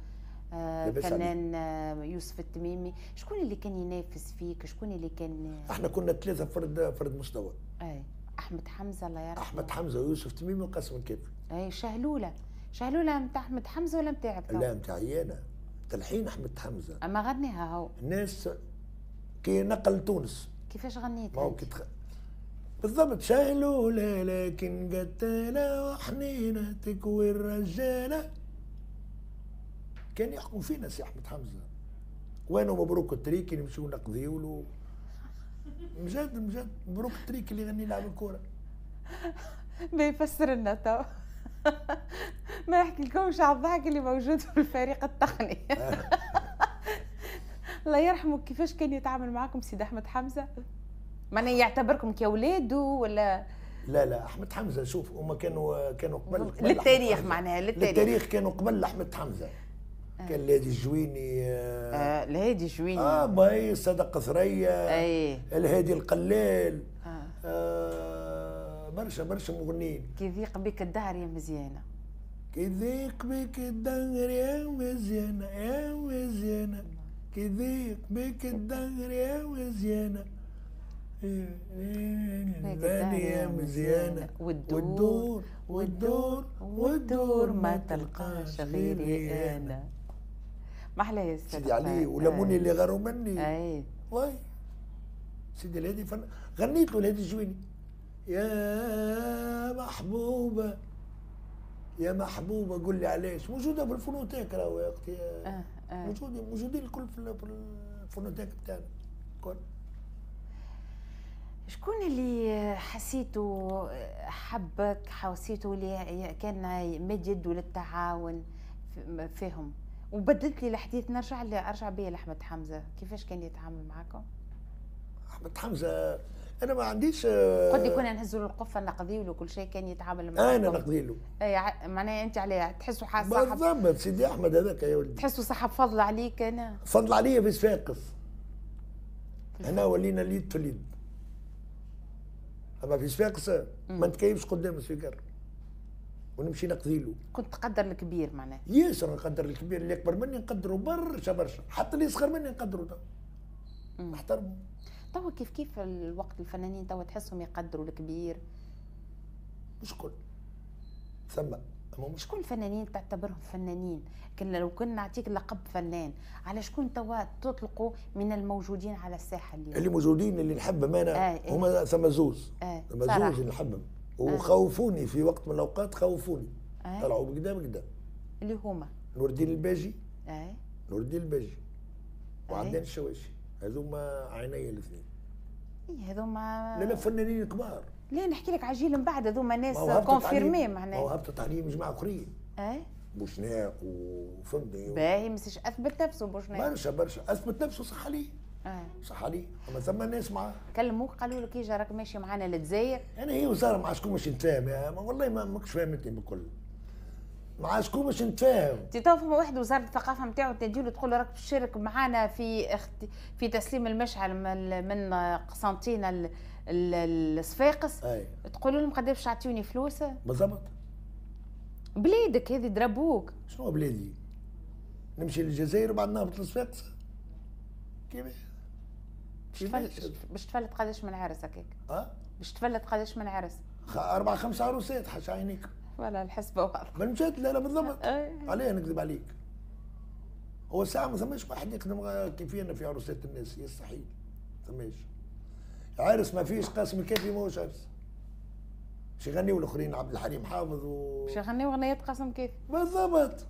آه فنان آه يوسف التميمي، شكون اللي كان ينافس فيك؟ شكون اللي كان؟ احنا كنا ثلاثة فرد فرد مستوى. اي أحمد حمزة الله يرحمه، أحمد حمزة ويوسف التميمي وقاسم الكافي. اي شهلولة، شهلولة نتاع أحمد حمزة ولا نتاعك؟ لا نتاعي أنا، تلحين أحمد حمزة. أما غنيها هو. الناس كي نقل تونس. كيفاش غنيتها؟ ما هو كي تخ... بالضبط شهلولة لكن قتالة وحنينة تكوي الرجالة. كان يحكم فينا سي أحمد حمزة. وينو مبروك التريكي نمشيو نقضيو له. مجد مجد مبروك التريكي اللي يغني لعب الكورة. ما يفسر لنا تو. ما نحكي لكمش على الضحك اللي موجود في الفريق التقني. الله يرحمه، كيفاش كان يتعامل معاكم سيد أحمد حمزة؟ معناها يعتبركم كأولاده ولا؟ لا لا أحمد حمزة شوف هما كانوا كانوا قبل, قبل للتاريخ، معناها للتاريخ للتاريخ كانوا قبل أحمد حمزة. آه. كان الهادي الجويني. آه, آه الهادي الجويني اه باي صدق ثريا، اي الهادي القلال. آه. آه برشا برشا مغنيين. كي يضيق بك الدهر يا مزيانة، كي يضيق بك الدهر يا مزيانة يا مزيانة، كي يضيق بك الدهر يا مزيانة يا مزيانة، والدور والدور والدور ما تلقاش غيري أنا. ما أحلى يا سيدي علي ولموني اللي غاروا مني. أي واي سيدي الهادي فن... غنيت له الهادي الجويني يا محبوبة يا محبوبة قول لي علاش. موجودة في ال phonothèque راهو يا أختي. آه آه. موجودين موجودين الكل في ال phonothèque بتاعنا الكل. شكون اللي حسيته حبك، حسيته اللي كان مد يده للتعاون فيهم؟ وبدلت لي الحديث، نرجع ارجع بيا لاحمد حمزة، كيفاش كان يتعامل معاكم؟ احمد حمزة انا ما عنديش. قلت لي كنا نهزوا له القفه نقضيو له كل شيء، كان يتعامل معاكم؟ انا نقضي له. اي معناها انت عليه تحسوا صاحب بالضبط سيدي احمد هذاك يا ولدي، تحسوا صاحب فضل عليك؟ انا فضل عليا في صفاقس، هنا ولينا اليد في اليد. اما في صفاقس ما نتكيفش قدام السيجار ونمشي نقضي له. كنت تقدر الكبير معناها؟ ياسر نقدر الكبير، اللي اكبر مني نقدره برشا برشا، حتى اللي اصغر مني نقدره نحترمه. توا كيف كيف الوقت الفنانين توا تحسهم يقدروا الكبير؟ مش كل ثم مش شكون الفنانين تعتبرهم فنانين؟ كنا لو كنا نعطيك لقب فنان، على شكون توا تطلقوا من الموجودين على الساحة اليوم؟ اللي موجودين اللي نحبهم انا آه هما ثم زوز. آه ثم زوز اللي نحبهم وخوفوني في وقت من الاوقات، خوفوني آه. طلعوا بكدا بكدا. اللي هما نور الدين الباجي. آه. نور الدين الباجي وعدنان الشواشي، هذوما عيني الاثنين. اي هذوما لا لا فنانين كبار. لا نحكي لك على جيل من بعد، هذوما ناس confirmés معناها. ما هو هبطت عليهم جماعة اخرين. اي بوشناق وفهمتني. باهي مسيش اثبت نفسه بوشناق برشا برشا، اثبت نفسه صح عليه. اه صح عليه، اما ثم ناس معاه. كلموك قالوا لك اجا راك ماشي معانا للجزائر؟ انا هي وزارة مع شكون باش نتفاهم؟ والله ما ماكش فاهمتني بالكل. مع شكون باش نتفاهم؟ انت تو فما واحد وزارة الثقافة نتاعو تنادي تقول له راك باش تشارك معانا في اخت... في تسليم المشعل من, من قسنطينه الصفاقس، تقول لهم قداش تعطيوني فلوس؟ بالضبط. بلادك هذه ضربوك. شنو بلادي؟ نمشي للجزائر وبعد نهبط لصفاقس؟ كيفاش؟ باش تفلت قداش من عرس هكاك؟ اه؟ باش تفلت قداش من عرس؟ أربع خمس عروسات حاشا عينيك. ولا الحسبة واضحة. من جد لا لا بالضبط. عليه نكذب عليك. هو ساعة ما ثماش واحد يخدم كيفينا في عروسات الناس، يستحيل. ما ثماش. عرس ما فيش قاسم الكافي ماهوش عرس. باش يغنيو الاخرين عبد الحليم حافظ و باش يغنيو اغنيات قاسم كافي. بالضبط.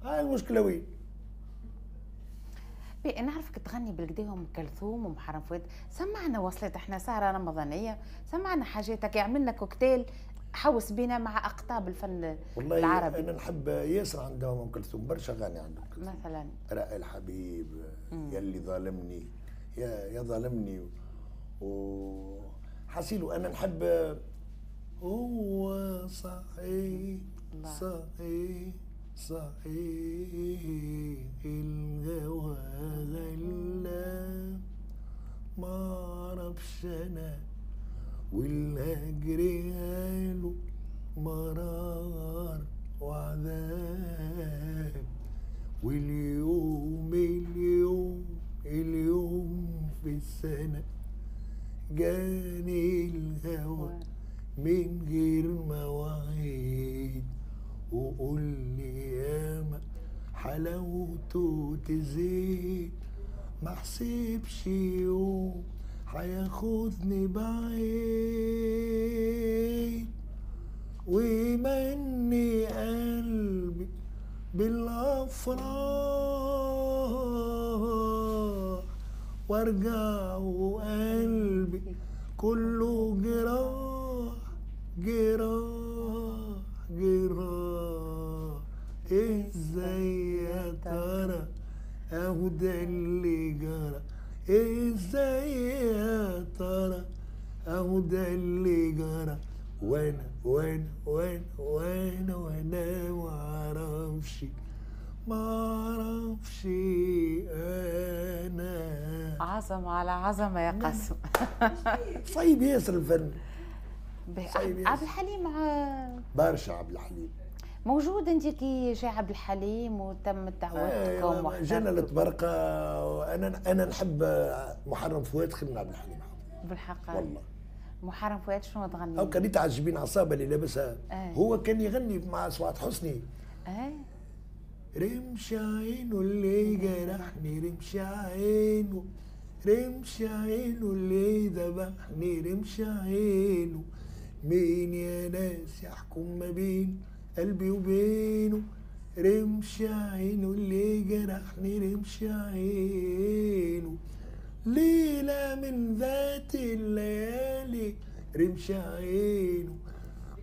هاي المشكلة وين؟ بي نعرفك تغني بالكدا ام كلثوم ومحرم فؤاد، سمعنا وصلت احنا سهرة رمضانية، سمعنا حاجاتك، عملنا كوكتيل حوس بينا مع اقطاب الفن والله العربي. انا نحب ياسر عندهم ام كلثوم، برشا اغاني عندهم مثلا رأي الحبيب، يلي ظالمني، يا يا ظالمني، و حسيلو انا نحب هو صحيح صحيح صحيح الهوى غلاب ما اعرفش انا والهجر قالوا مرار وعذاب، واليوم اليوم اليوم في السنة جاني الهوى من غير مواعيد، وقول لي ياما حلاوته تزيد، ما حسبش يوم هياخدني بعيد، ويمني قلبي بالافراح، وارجع وقلبي كله جراح جراح جراح. ازاي يا ترى اهو ده اللي جرى، ازاي يا ترى اهو ده اللي جرى، وانا وانا وانا وانا وانا ما اعرفش ما اعرفش انا. عظمه على عظمه يا قاسم. صعيب ياسر الفن. عبد الحليم برشا عبد الحليم موجود. انت كي جا عبد الحليم وتم دعوتكم آه جانا الطبرقه. انا انا نحب محرم فؤاد خير من عبد الحليم بالحق والله. محرم فؤاد شنو تغني؟ او كان تعجبين عصابة اللي لابسها آه. هو كان يغني مع سعاد حسني اه رمش عينه اللي جرحني، رمش عينه، رمش عينه اللي ذبحني، رمش عينه، مين يا ناس يحكم ما بين قلبي وبينه، رمش عينه اللي جرحني، رمش عينه، ليلة من ذات الليالي، رمش عينه،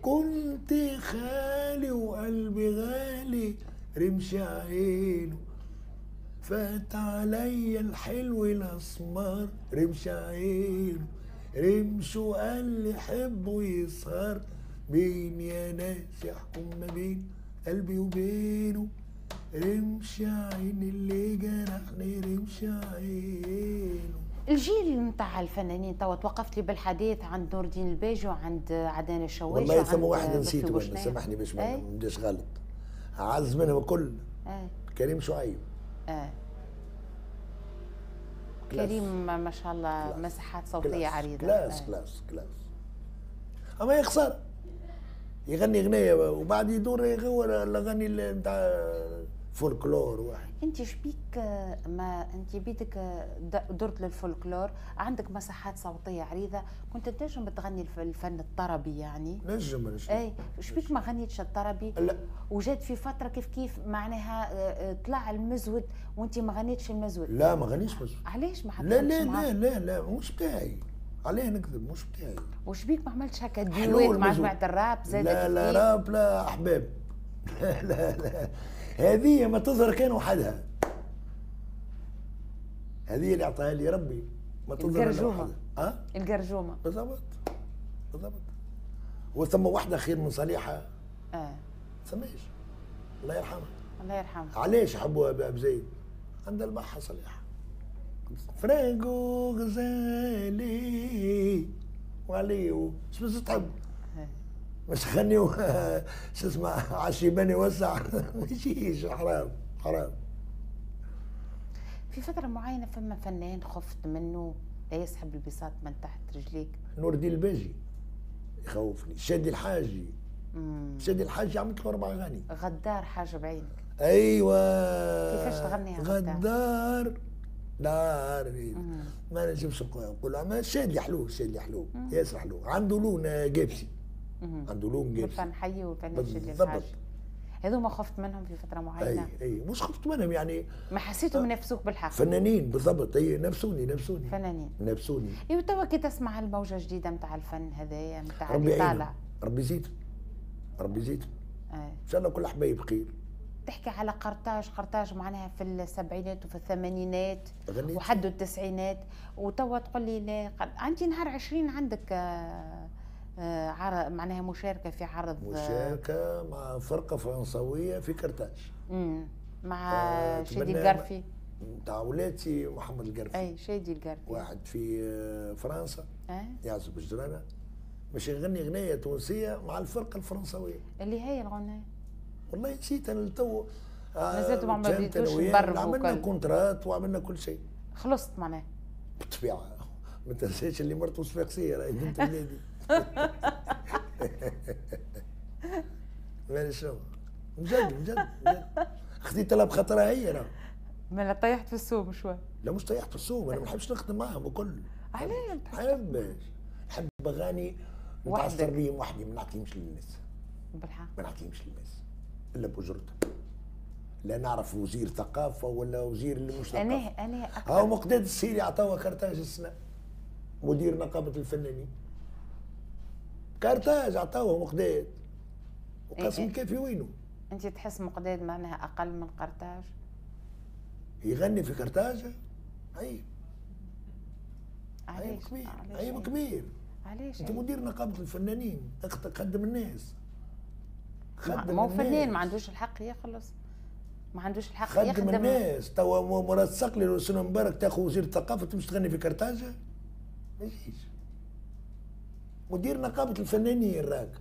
كنت خالي وقلبي غالي، رمش عينه، فات عليا الحلو الاسمر، رمش عينه، رمش وقال لي حبه يسهر، مين يا ناس يحكم ما بين قلبي وبينه، رمش عين اللي جرحني، رمش عينه. الجيل نتاع الفنانين توا توقفت لي بالحديث عند نور الدين الباجي وعند عدنان الشواشي والله ثم واحد نسيته، سامحني باش ما نبداش غلط، أعز منهم الكل أي. كريم شعيب. اه كريم ما شاء الله مساحات صوتية عريضة. classe classe classe. أما يخسر يغني غنية وبعد يدور يغور الأغاني نتاع فولكلور واحد. أنت شبيك ما أنت بيدك درت للفولكلور، عندك مساحات صوتية عريضة، كنت تنجم تغني الفن الطربي يعني؟ نجم نجم. أي شبيك ما غنيتش الطربي؟ لا. وجات في فترة كيف كيف معناها طلع المزود وأنت ما غنيتش المزود. لا ما غنيتش مزود. علاش ما حطيتش؟ لا لا لا لا لا مش بتاعي. عليه نكذب مش بتاعي. وشبيك ما عملتش هكا duet مع جماعة الراب زاد؟ لا لا راب لا أحباب. لا لا لا هذه ما تظهر كان وحدها. هذه اللي اعطاها لي ربي ما تظهر الجرجومه. أه؟ الجرجومه بالضبط بالضبط. وثم واحدة خير من صليحه اه ثماش، الله يرحمها. الله يرحمها. علاش حبوها باب زيد؟ عندها البحه صليحه. فرانكو غزالي وعليه شو بس تحب؟ مش غني شو اسمه عشيباني وسع ما يجيش، حرام حرام. في فترة معينة فما فنان خفت منه لا يسحب البساط من تحت رجليك؟ نور الدين الباجي يخوفني، شادي الحاجي. مم. شادي الحاجي عملت له أربع أغاني. غدار حاجة بعينك. أيوه. كيفاش تغنيها غدار؟ دار ما نجمش نقول، أما شادي حلو، شادي حلو ياسر حلو، عنده لون جابسي. عنده لون جابسي. الفن حي والفن شادي الحاج. هذوما خفت منهم في فترة معينة؟ اي اي مش خفت منهم يعني، ما حسيتهم نفسوك بالحق؟ فنانين بالضبط، اي نفسوني نفسوني فنانين نفسوني. ايوا توا كي تسمع الموجه الجديدة نتاع الفن هذايا نتاع اللي طالع، ربي يزيد. ربي يزيدهم. ان شاء الله كل حبايب بخير. تحكي على قرطاج، قرطاج معناها في السبعينات وفي الثمانينات وحدوا التسعينات، وتوا تقول لي لا. عندي نهار عشرين عندك عرض، معناها مشاركة في عرض، مشاركة مع فرقة فرنسوية في قرطاج. امم مع آه شادي القرفي نتاع ولادي محمد القرفي. اي شادي القرفي واحد في فرنسا أه؟ يعزف الجرانة، باش يغني غنية تونسية مع الفرقة الفرنسوية. اللي هي الغنية؟ والله نسيت انا تو. مازالتوا ما بديتوش تبربوا؟ عملنا contrat وعملنا كل شيء. خلصت معناها؟ بالطبيعة، ما تنساش اللي مرته صفاقسية راهي بنت بلادي. مالي شنو؟ مجد مجد مجد خذيت لها بخاطرها هي راه. مالا طيحت في السوم شوي. لا مش طيحت في السوم، انا ما نحبش نخدم معاهم الكل. علاش؟ ما نحبش، نحب اغاني نتعثر بيهم وحدي، ما نعطيهمش للناس. بالحق؟ ما نعطيهمش للناس الا باجرتها. لا نعرف وزير ثقافة ولا وزير اللي مش ثقافة. انا انا اكثر. هاو مقداد السيري عطاوه كرتاج السنة، مدير نقابة الفنانين. كرتاج عطاوه مقداد. وقاسم إيه الكافي وينه؟ انت تحس مقداد معناها اقل من قرطاج؟ يغني في قرطاج؟ عيب. عيب كبير، عيب كبير. علاش؟ انت مدير نقابة الفنانين، خدم الناس. خدم ما هو فنان ما عندوش الحق يخلص، ما عندوش الحق خدم يخدم الناس. توا مراد الصقلي وسنة مبارك تاخذ وزير الثقافة تمشي تغني في قرطاج؟ ما يجيش. مدير نقابة الفنانين راك.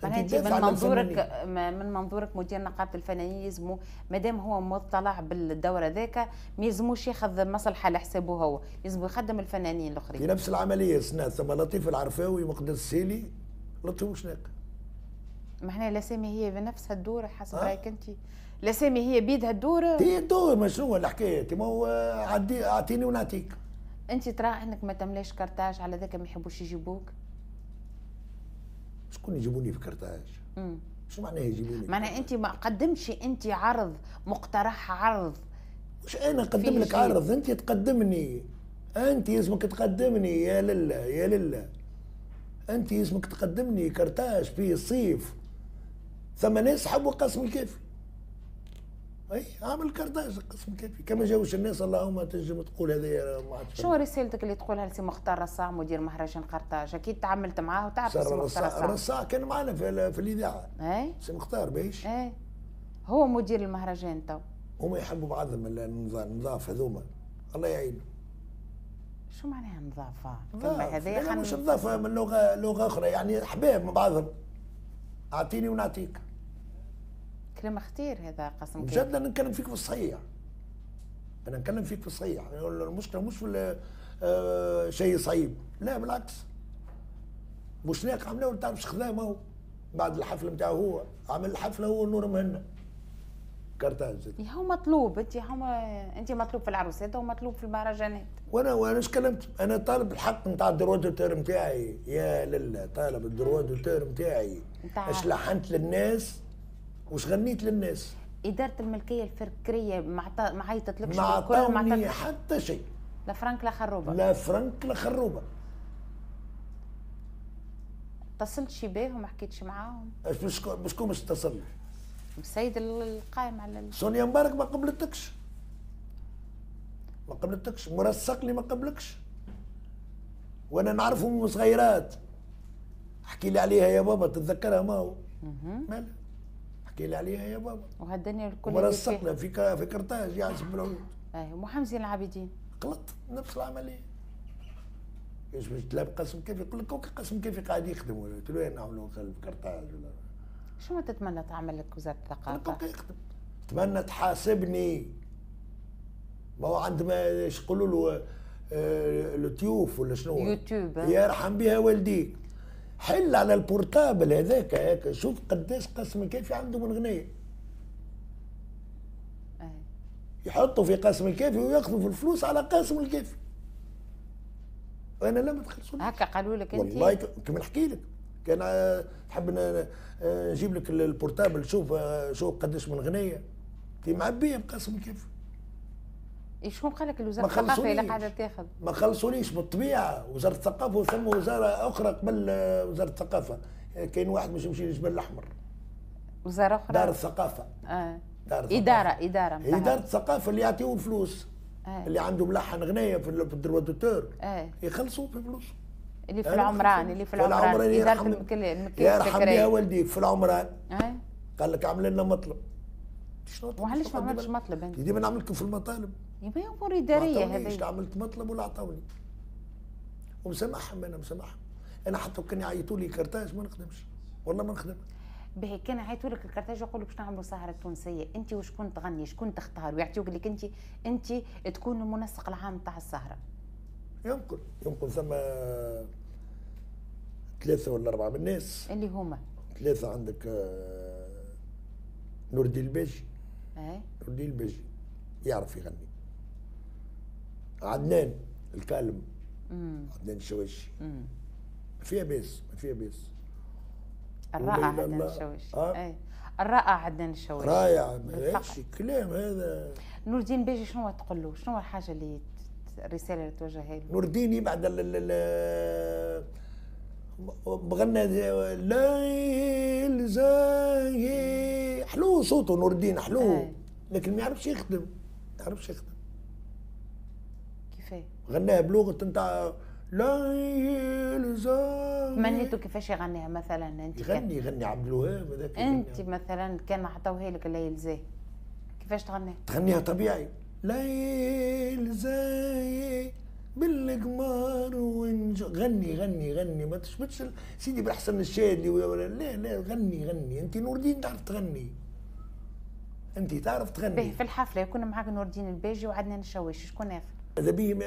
معناها انت من منظورك، من منظورك مدير نقابة الفنانين يلزمو مادام هو مطلع بالدور هذاك ما يلزموش ياخذ مصلحة على حسابه هو، يلزمو يخدم الفنانين الاخرين. في نفس العملية سنة ثم لطيف العرفاوي مقداد السيلي لطيف وشناق. معناها الاسامي هي بنفسها الدور حسب أه؟ رايك انت؟ الاسامي هي بيدها الدور؟ هي الدور، ما شنو الحكاية؟ ما هو عدي اعطيني ونعطيك. انت ترى انك ما تملاش كرتاج على ذاك ما يحبوش يجيبوك؟ شكون يجيبوني في كرتاج؟ امم شو معناها يجيبوني؟ معناها انت ما قدمتش انت عرض، مقترح عرض. مش انا نقدم لك عرض، انت تقدمني. انت اسمك تقدمني يا لله يا لله. انت اسمك تقدمني كرتاج في الصيف. ثم ناس حبوا قاسم الكافي. اي عامل كرتاج قاسم الكافي، كما جاوش الناس اللهم تنجم تقول هذا ما عادش. شو رسالتك اللي تقولها لسي مختار رصاع مدير مهرجان قرطاج؟ اكيد تعاملت معاه وتعرف سي مختار رصاع. رصاع كان معنا في, في الاذاعة. اي سي مختار بايش؟ اي هو مدير المهرجان تو. هما يحبوا بعضهم النظاف هذوما، الله يعينهم. شو معناها نظافة؟ الكلمة هذه مش نظافة من لغة لغة اخرى، يعني احباب مع بعضهم. اعطيني ونعطيك. كلام خطير هذا قاسم. بجد انا نتكلم فيك في الصحيح. انا نتكلم فيك في الصحيح، المشكلة مش في آه شيء صعيب، لا بالعكس. بوشناق عملناه تعرف خدامه هو بعد الحفلة نتاعو هو، عمل الحفلة هو نور مهنا. كرتاج. هو مطلوب، انت هو انت مطلوب في العروسات ومطلوب في المهرجانات. وانا وانا اش كلمت؟ انا طالب الحق نتاع ال droit d'auteur نتاعي يا لله، طالب ال droit d'auteur نتاعي. اش لحنت للناس وش غنيت للناس. إدارة الملكية الفكرية ما ما عيطتلكش ما عطاوني حتى شيء. لا فرنك لا خروبة. لا فرنك لا خروبة. اتصلتش بيهم ما حكيتش معاهم؟ بشكون باش اتصل؟ السيد القائم على ال... سونيا مبارك ما قبلتكش. ما قبلتكش، مراد الصقلي ما قبلكش. وانا نعرفهم من صغيرات. احكي لي عليها يا بابا تتذكرها ما هو. مالها؟ احكي لي عليها يا بابا. وهالدنيا الكل مراد الصقلي في في كرتاج يعزف بالعود. اي ومحمد زين العابدين. غلط نفس العملية. ايش باش تلعب قاسم كيف يقول لك قاسم كيف قاعد يخدم ولا قلت له نعملوا في كرتاج ولا شو ما تتمنى تعمل لك وزارة الثقافة؟ تتمنى تحاسبني. ما هو عندما ايش يقولوا له آه اليوتيوب ولا شنو؟ يوتيوب يرحم بها والديك. حل على ال portable هذاك هكا شوف قداش قاسم الكافي عنده من غنية. يحطوا في قاسم الكافي وياخذوا في الفلوس على قاسم الكافي. وانا لا ما تخلصونيش. هكا قالوا لك انت؟ والله كما نحكي لك كان تحب نجيب لك ال portable شوف شوف قداش من غنية في معبيه بقاسم الكافي. شكون قال لك الوزارة الثقافة اللي قاعدة تاخذ؟ ما خلصونيش بالطبيعة، وزارة الثقافة وثم وزارة اخرى قبل وزارة الثقافة كاين واحد باش يمشي للجبل الاحمر. وزارة اخرى دار الثقافة. اه دار الثقافة. ادارة ادارة هي دار الثقافة اللي يعطيوه الفلوس. آه. اللي عنده ملحن غنايه في ال droit d'auteur آه. يخلصوا في فلوس. اللي في العمران اللي في العمران ادارة الملكية يرحم بها والديك في العمران. آه. قال لك عمل لنا مطلب. شنو وعلاش ما عملتش مطلب انت؟ ديما نعمل لكم في المطالب. يبقى امور ادارية هذه. عملت مطلب ولا عطاوني. ومسامحهم انا مسامحهم. انا حتى كان يعيطوا لي كرتاج ما نخدمش، والله ما نخدم. باهي كان عيطوا لك الكرتاج يقولوا باش نعملوا سهره تونسية، انت وشكون تغني؟ شكون تختار؟ ويعطيوك لك انت انت تكون المنسق العام تاع السهرة. يمكن يمكن ثم ثلاثة ولا اربعة من الناس. اللي هما؟ ثلاثة عندك نور الدين الباجي. ايه نور الدين الباجي يعرف يغني. عدنان الكالم. مم. عدنان الشواشي. ما فيها باس ما فيها باس. الرائع عدنان الشواشي. آه. ايه الرائع عدنان الشواشي. رائع ماشي كلام هذا. نور الدين باجي شنو تقول له؟ شنو الحاجة اللي الرسالة اللي توجهها له؟ نور الدين يبعد ال بغنى ليل زاهي حلو صوته نور الدين حلو. آه. لكن ما يعرفش يخدم ما يعرفش يخدم. كيفاه؟ غناها بلغه نتاع ليل زاهي. تمنيتو كيفاش يغنيها مثلا انت؟ يغني يغني عبد الوهاب هذاك. انت مثلا كان عطاوها لك ليل زاهي كيفاش تغنيها؟ تغنيها طبيعي ليل زاهي بالقمار ونجو. غني غني غني ما تشبتش سيدي بالحسن الشاذلي ولا لا لا غني غني انت نور الدين تعرف تغني. انت تعرف تغني. في الحفلة يكون معاك نور الدين الباجي وعدنان الشواشي شكون اخر؟ اذا بيه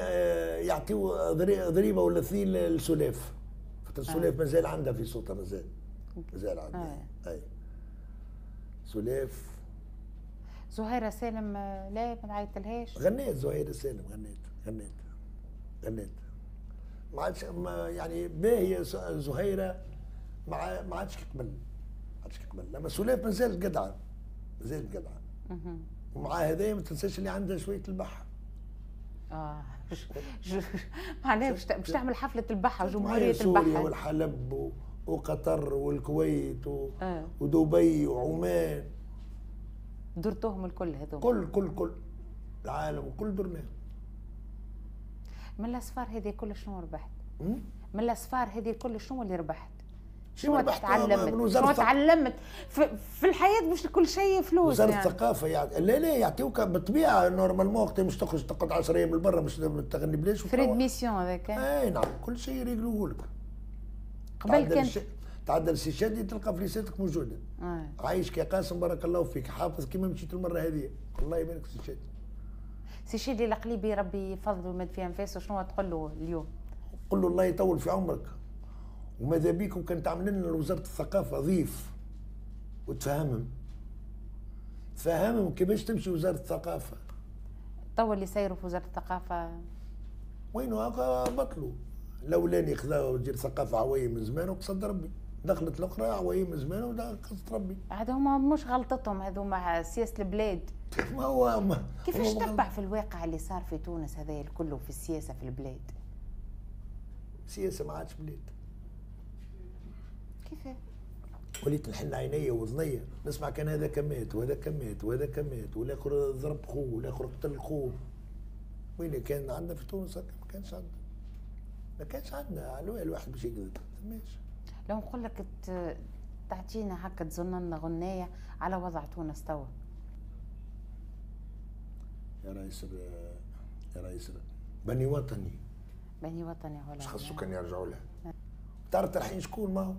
يعطيو ضريبة ولا اثنين للسلاف. خاطر السلاف آه. مازال عندها في صوتها مازال مازال عندها. آه. اي سلاف. زهيره سالم لا ما عيطلهاش؟ غنيت زهيره سالم غنيت غنيت غنيت ما عادش يعني باهيه زهيره ما ما عادش قبل ما عادش قبل. لما سلاف مازالت قدعه مازالت قدعه. ومع هذايا ما تنساش اللي عندها شوية البحه. اه معناها باش تعمل حفلة البحه وجمهوريه البحه. سوريا والحلب وقطر والكويت و... آه. ودبي وعمان. درتوهم الكل هذوما؟ كل كل كل العالم كل درناه. من الاسفار هذه كل شنو ربحت؟ من الاسفار هذه كل شنو اللي ربحت؟ شنو تعلمت؟ شنو تعلمت في, في الحياة؟ مش كل شيء فلوس. وزارة يعني. الثقافة يعني لا لا يعطيوك بالطبيعة normalement وقت مش تخرج تقعد عشرة ايام لبرا مش تغني بلاش. frais de mission هذاك. اي نعم كل شيء يريقلوه لك. قبل كان تعدل سي شادي تلقى فليساتك موجودة. آه. عايش يا قاسم بارك الله فيك حافظ كيما مشيت المرة هذه الله يبارك سي شادي. سي شادي القليبي ربي يفضله ويمد في انفاسه شنو تقول له اليوم؟ قل له الله يطول في عمرك وماذا بيكم كان تعمل لنا وزارة الثقافة ضيف وتفهمهم تفهمهم كيفاش تمشي وزارة الثقافة. تو اللي سيروا في وزارة الثقافة وينو هكا بطلوا. الاولاني خذا وزير الثقافة عويه من زمان وقصد ربي، دخلت الاخرى عويه من زمان وقصد ربي. عاد هما مش غلطتهم هذوما سياسة البلاد. ما هو ما كيفاش تتبع في الواقع اللي صار في تونس هذا الكل في السياسة في البلاد؟ السياسة ما عادش بلاد. كيفاه؟ وليت نحل عيني وذني نسمع كان هذا كمات وهذا كمات وهذا كمات والاخر ضرب خوه والاخر قتل خوه. وين كان عندنا في تونس هكا؟ ما كانش عندنا. ما كانش عندنا على الواحد باش يكذب ما لو نقول لك تعطينا هكا تظن لنا غنايه على وضع تونس توا. يا رئيس يا رئيس بني وطني. بني وطني ولا مش خاصو كان يرجعوا لها. تعرف تلحين شكون ما هو؟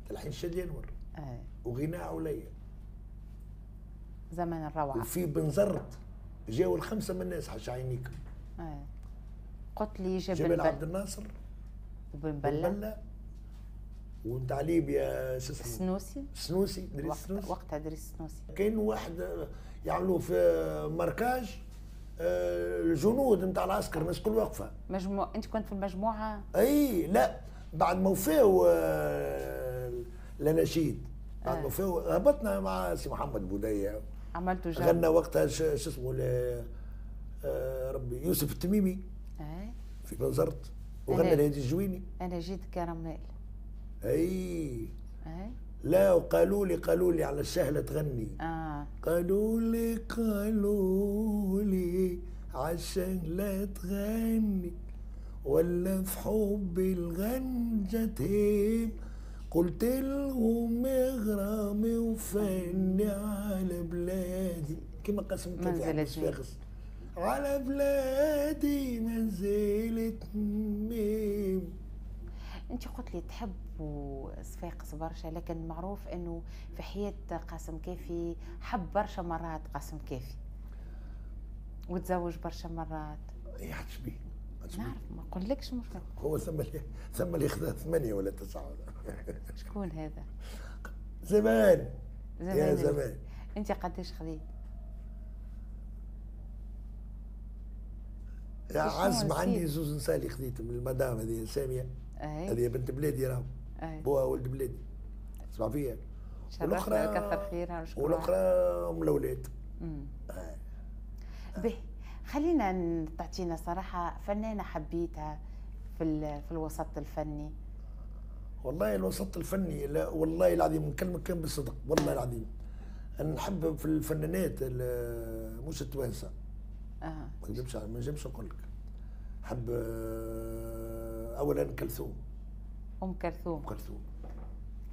تلحين شادي انور. اه وغناء عليا. زمن الروعة. وفي بنزرت جاوا الخمسة من الناس حش عينيك. اه قلت لي جبل, جبل عبد الناصر وبن بله ونتاع ليبيا شو اسمه؟ سنوسي. سنوسي دريس سنوسي. وقتها دريس سنوسي. كاين واحد يعملوه في marquage الجنود نتاع العسكر الناس الكل واقفة. مجموعة انت كنت في المجموعة؟ اي لا بعد ما وفاو الاناشيد بعد ما وفاو هبطنا مع سي محمد بوديه عملتوا جو غنى وقتها شو اسمه ربي يوسف التميمي اي في بنزرت وغنى الهادي الجويني. انا جيت كرمال. اي أه؟ لا وقالوا لي قالوا لي على السهلة تغني. آه. قالوا لي قالوا لي على السهلة تغني ولا في حبي الغنجة تهيم، قلت لهم غرامي وفني على بلادي، كما قسم كافي صفاقس على بلادي منزلة ميم. انت قلت لي تحب صفاقس برشا، لكن معروف انه في حياة قاسم كافي حب برشا مرات قاسم كافي وتزوج برشا مرات. اي حدش بيه نعرف، ما نقولكش مش هو ثم اللي ثم اللي خذا ثمانية ولا تسعة ولا شكون هذا؟ زمان زمان يا زمان. انت قداش خذيت؟ يا عزم عندي زوز نساء اللي خذيتهم المدام هذه سامية، هذه بنت بلادي راهو بوها ولد بلادي تسمع فيا، والاخرى كثر خيرها والاخرى ام الاولاد. به خلينا تعطينا صراحة فنانة حبيتها في في الوسط الفني. والله الوسط الفني لا والله العظيم نكلمك كان بالصدق، والله العظيم انا نحب في الفنانات مش التوانسة. اه ما نجمش ما نجمش نقول لك حب. اولا كلثوم، ام كلثوم. ام كلثوم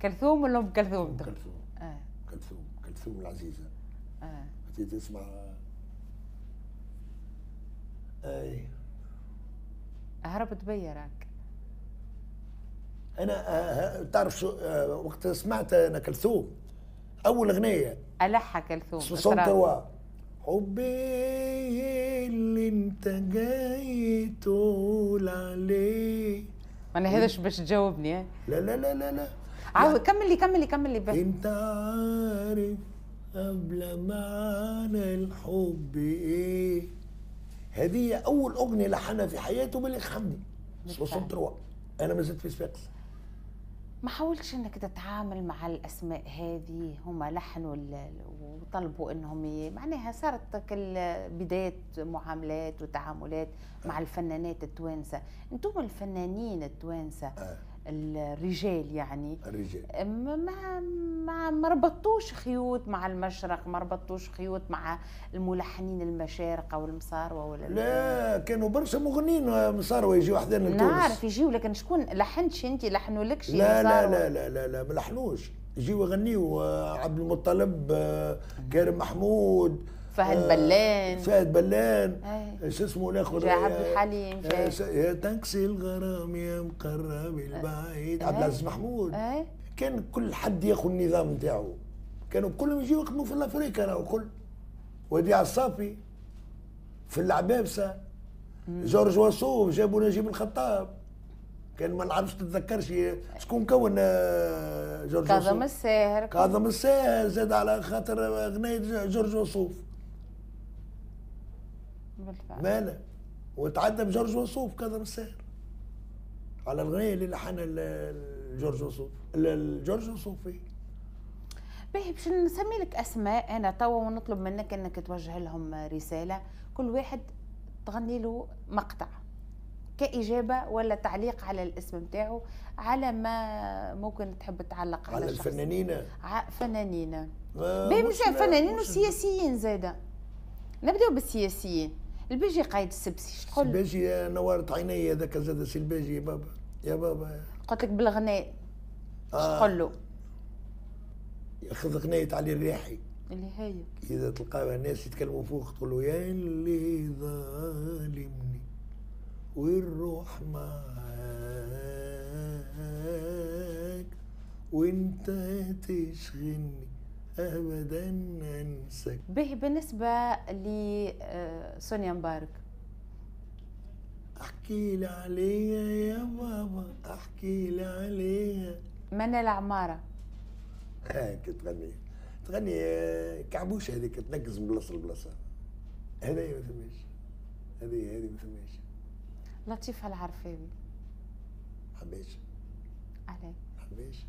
كلثوم ولا ام كلثوم؟ ام كلثوم. اه كلثوم كلثوم العزيزة. اه تسمع اي هربت بيا راك. انا آه تعرف شو آه وقت سمعت انا كلثوم اول اغنية الحها كلثوم ثلاثة حبي اللي انت جاي تقول عليه. انا هذاش باش تجاوبني. لا لا لا لا لا عاود كمل لي كمل لي كمل لي. انت عارف قبل معنى الحب ايه. هذه اول اغنية لحنها في حياته بليغ حمدي ثلاثة وستين. انا ما زلت في صفاقس. ما حاولتش انك تتعامل مع الاسماء هذه؟ هما لحنوا وطلبوا انهم معناها صارت كل بداية معاملات وتعاملات مع الفنانات التوانسة، انتم الفنانين التوانسة آه. الرجال يعني الرجال ما ما ما ربطوش خيوط مع المشرق، ما ربطوش خيوط مع الملحنين المشارقه والمصاروه ولا لا؟ كانوا برشا مغنيين مصاروه يجيو حذانا لتونس. نعرف يجيو، لكن شكون لحنتش انت؟ لحنوا لكش؟ لا لا لا لا لا لا ما لحنوش، يجيو يغنيو عبد المطلب، كريم محمود، فهد بلان، فهد بلان، شو اسمه الاخر، عبد الحليم، يا تاكسي الغرام يا مقرب البعيد، عبد العزيز محمود. أي. كان كل حد ياخذ النظام نتاعو، كانوا كلهم يجيو يخدموا في الافريقيا راهو كل، وديع الصافي في العبابسه، جورج وصوف جابوا نجيب الخطاب، كان ما نعرفش تتذكرش شكون كون جورج وصوف؟ كاظم الساهر. كاظم الساهر زاد على خاطر اغنية جورج وصوف. بالفعل. مالا وتعدى بجورج وصوف كاظم الساهر على الغنية اللي لحنها جورج وصوف، جورج وصوف. باهي باش نسمي لك اسماء انا توا ونطلب منك انك توجه لهم رسالة، كل واحد تغني له مقطع كإجابة ولا تعليق على الاسم نتاعو، على ما ممكن تحب تعلق على, على الفنانين. فنانين باهي مش فنانين وسياسيين زاده. نبداو بالسياسيين. الباجي قايد السبسي شتقول؟ الباجي نورت عيني هذاك زاد سي الباجي يا بابا يا بابا. قلت لك بالغناء شتقول له؟ ياخذ غناية علي الرياحي اللي هي إذا تلقاها الناس يتكلموا فوق تقول له يا اللي ظالمني والروح معاك وانت تشغلني ابدا انساك. به بالنسبة لسونيا مبارك، احكي لي عليها يا بابا، احكي لي عليها. منال عمارة هاك تغني تغني كعبوشه هذيك تنقز من بلاصة لبلاصه، هذه ما ثماش، هذه هذه ما ثماش. لطيفة العرفاوي حبيش علي حبيش،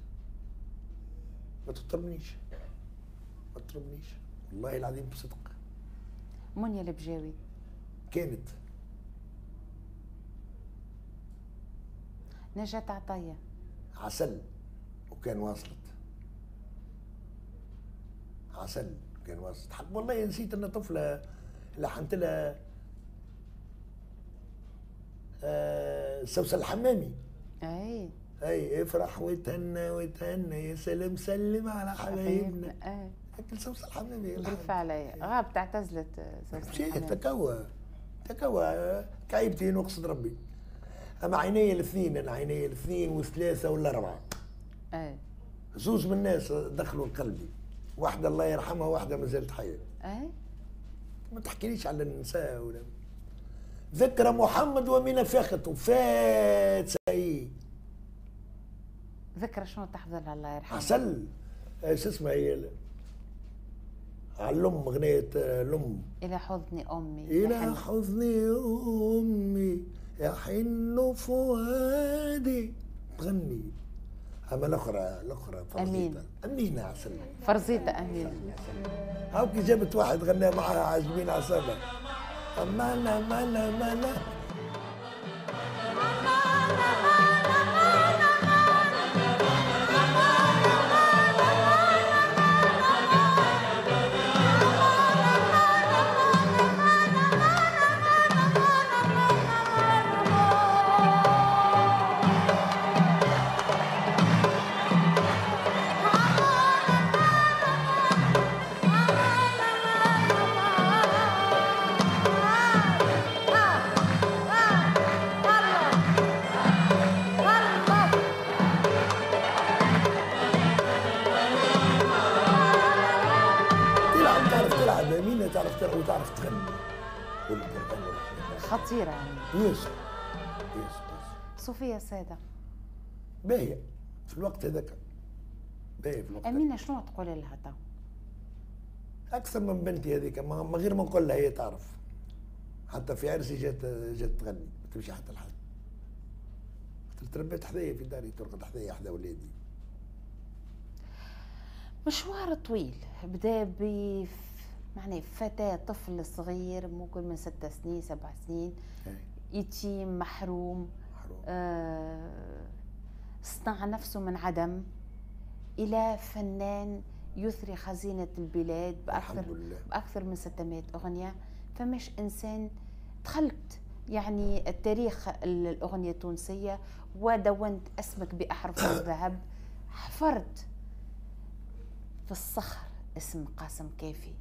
ما تطربنيش ما تطربنيش والله العظيم بصدق. منيا البجاوي كانت. نجاة عطية عسل وكان واصلت. عسل كان وسط. حق والله نسيت ان طفله لحنت لها آه سوسن الحمامي. اي اي افرح وتهنى وتهنى يا سلام سلم على حبايبنا. اي اكل سوسن الحمامي بالفعل غابت اعتزلت سوسن الحمامي. تكوى تكوى كعيبتي نقصد ربي. اما عيني الاثنين، انا عيني الاثنين والثلاثة والاربعة. اي زوز من الناس دخلوا لقلبي، واحدة الله يرحمها واحدة ما زالت حيه. اي ما تحكيليش على النساء ولا ذكرى محمد ومن فاخت وفات سعيد. ذكرى شنو تحفظ لها الله يرحمها؟ عسل شو اسمها هي؟ على الام، اغنية الام. الى حضن امي. الى حضن امي يحن فؤادي تغني. اما الاخرى الاخرى فرزيطه. امينه عسل. فرزيطه امينه. هاو كي جابت واحد غنى معها عاجبين عصابة. أمانة أمانة أمانة. وتعرف تغني والقرآن والرحمن. خطيرة يعني. ياسر ياسر ياسر. صوفيا سادة باهية في الوقت هذاك، باهية في الوقت. أمينة شنو تقول لها تو؟ أكثر من بنتي هذيك، ما غير ما نقول لها هي تعرف. حتى في عرسي جات جات تغني، ما تمشي حتى لحد. تربيت حذايا في داري، ترقد حذايا حذا ولادي. مشوار طويل بدا ب معناه فتاة، طفل صغير ممكن من ست سنين سبع سنين، يتيم محروم، محروم. آه، صنع نفسه من عدم إلى فنان يثري خزينة البلاد بأكثر بأكثر من ستمائة أغنية. فمش إنسان دخلت يعني التاريخ الأغنية التونسية ودونت اسمك بأحرف الذهب، حفرت في الصخر اسم قاسم كافي.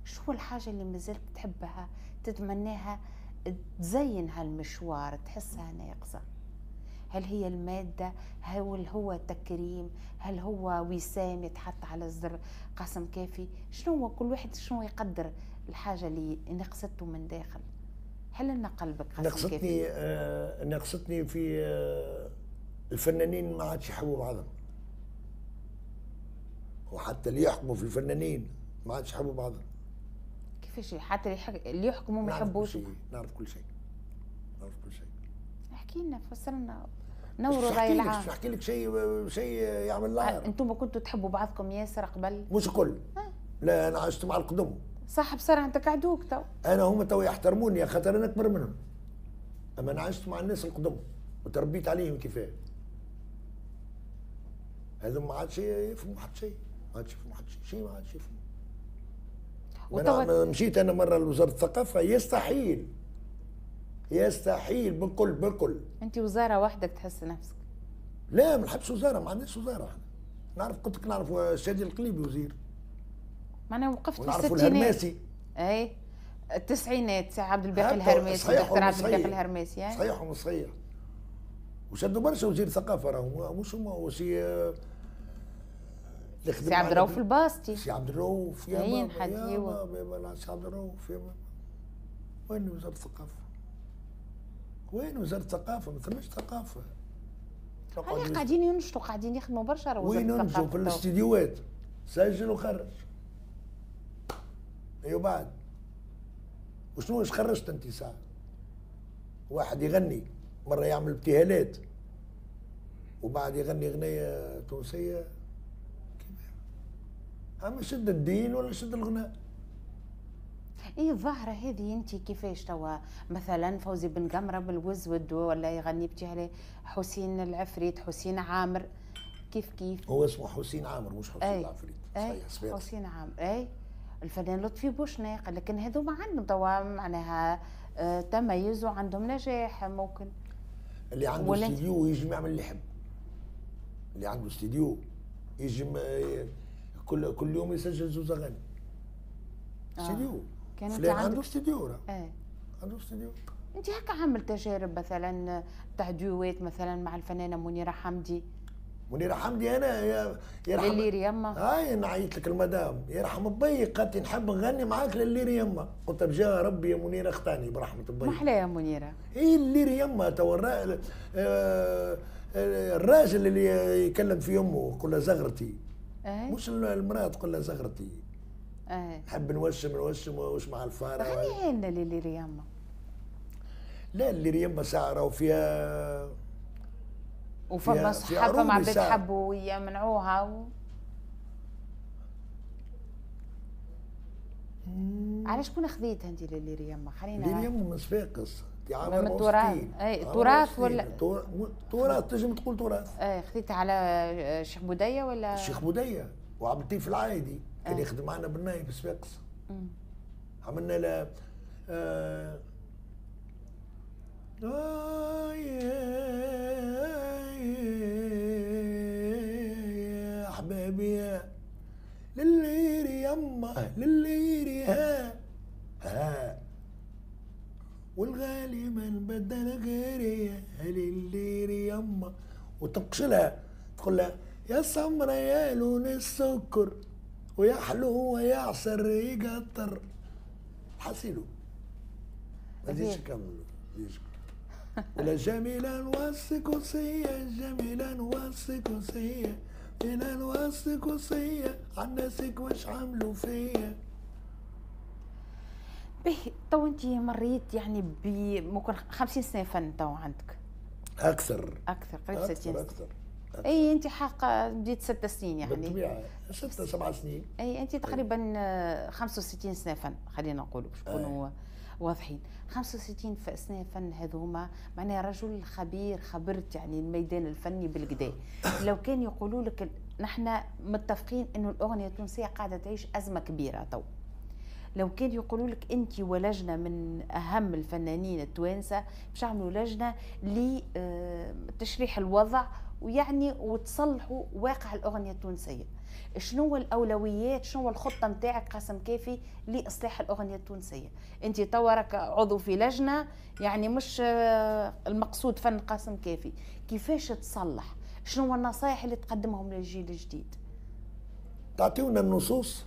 شو الحاجة اللي مازلت تحبها تتمناها تزين هالمشوار تحسها ناقصة؟ هل هي المادة؟ هل هو تكريم؟ هل هو وسام يتحط على الزر قاسم كافي؟ شنو هو كل واحد شنو يقدر الحاجة اللي نقصته من داخل؟ حل لنا قلبك قاسم نقصتني كافي. آه نقصتني في آه الفنانين ما عادش يحبوا بعضهم، وحتى اللي يحكموا في الفنانين ما عادش يحبوا بعضهم. كيفاش حتى اللي يحكموا ما يحبوش؟ نعرف كل شيء، نعرف كل شيء. احكي لنا، فسر لنا، نوروا الراي العام. مش نحكي لك شيء شيء يعمل العار. انتم كنتوا تحبوا بعضكم ياسر قبل؟ مش الكل. أه. لا انا عشت مع القدم. صح بصراحة انت كعدوك تو. انا هما تو يحترموني خاطر انا اكبر منهم. اما انا عشت مع الناس القدم وتربيت عليهم كيفاه. هذو ما عادش يفهموا حتى شيء، ما عادش يفهموا حتى شيء، شيء ما عادش يفهموا. أنا مشيت انا مرة لوزارة الثقافة، يستحيل يستحيل بالكل بالكل. انت وزارة وحدك تحس نفسك؟ لا ما نحبش وزارة، ما عندناش وزارة احنا. نعرف قلت لك نعرف الشادي القليبي وزير. معناها وقفت في الستينات. الهرماسي. اي التسعينات سي عبد الباقي الهرماسي، دكتور عبد الباقي الهرماسي. يعني صحيح ومش صحيح. وشدوا برشا وزير ثقافة راهو مش هما، وسي سي عبد الرؤوف الباسطي. سي عبد الرؤوف يا بابا يا بابا، سي عبد الرؤوف يا بابا. وين وزارة الثقافة؟ وين وزارة الثقافة؟ ما ثماش ثقافة. هاني قاعدين ينشطوا، قاعدين يخدموا برشا وزارة وين ينشطوا؟ في الاستديوهات، سجل وخرج. ايوا بعد وشنو واش خرجت انت ساعة؟ واحد يغني مرة يعمل ابتهالات وبعد يغني اغنية تونسية. اما شد الدين ولا شد الغناء؟ ايه الظاهرة هذه انت كيفاش توا؟ مثلا فوزي بن قمرة بالوزود ولا يغني ابتهالات، حسين العفريت، حسين عامر، كيف كيف. هو اسمه حسين عامر مش حسين العفريت. صحيح حسين عامر. اي الفنان لطفي بوشناق، لكن هذوما عندهم توا معناها تميز وعندهم نجاح. ممكن اللي عنده استديو يجم يعمل اللي يحب، اللي عنده استديو يجم كل كل يوم يسجل زوز اغاني. استديو آه. فلان عنده استديو راه. ايه عنده استديو. انت هكا عامل تجارب مثلا تاع دوات مثلا مع الفنانة منيرة حمدي؟ منيرة حمدي انا يا يرحم لليري يما. هاي نعيط لك المدام يرحم بي، قالت لي نحب نغني معاك لليري يما، قلت بجاه ربي يا منيرة اختاني برحمة بي. محلى يا منيرة. اي الليري يما تو الراجل اللي يكلم في امه يقول لها زغرتي. أه؟ مش المراة تقول لها زغرتي. أه؟ نحب نوشم نوشم وش مع الفارة. غنيها لنا لليري يما. لا الليري يما ساعة راهو فيها وفما صحافة مع عباد حبوا يمنعوها و... على شكون خذيتها انت لليري يما؟ خلينا لليري يما من صفاقس. من التراث. اي تراث ولا تراث، تنجم تقول تراث. اي خذيتها على الشيخ بوديه ولا؟ الشيخ بوديه وعبد اللطيف العايدي كان يخدم معنا بالناي في صفاقس. عملنا له آه آه يا أحبابي لليري يما لليري ها ها والغالي من بدل غيري لليري يما، وتنقشلها تقول لها يا سمرة يا لون السكر ويا حلوة يا عسل يقطر. حسيلو ما زيدش نكملوا. ولا جميلة والسكوسية جميلة والسكوسية جميلة والسكوسية عالناسك واش عملوا فيا. به تو انت مريت يعني ب ممكن خمسين سنة فن تو عندك؟ أكثر أكثر قريب ستين سنة. أكثر أكثر. اي انت حق بديت ست سنين يعني. بالطبيعة ست سبع سنين. اي انت تقريبا خمسة وستين سنة فن خلينا نقولوا باش نكونوا واضحين. خمسة وستين سنة فن هذوما معناها رجل خبير، خبرت يعني الميدان الفني بالكدا. لو كان يقولوا لك نحن متفقين انه الاغنية التونسية قاعدة تعيش ازمة كبيرة تو، لو كان يقولوا لك انت ولجنه من اهم الفنانين التوانسة باش يعملوا لجنة لتشريح الوضع ويعني وتصلحوا واقع الاغنية التونسية، شنو الاولويات، شنو الخطة نتاعك قاسم كافي لاصلاح الاغنية التونسية؟ انت توا راك عضو في لجنة يعني مش المقصود فن قاسم كافي، كيفاش تصلح؟ شنو النصائح اللي تقدمهم للجيل الجديد؟ تعطيونا النصوص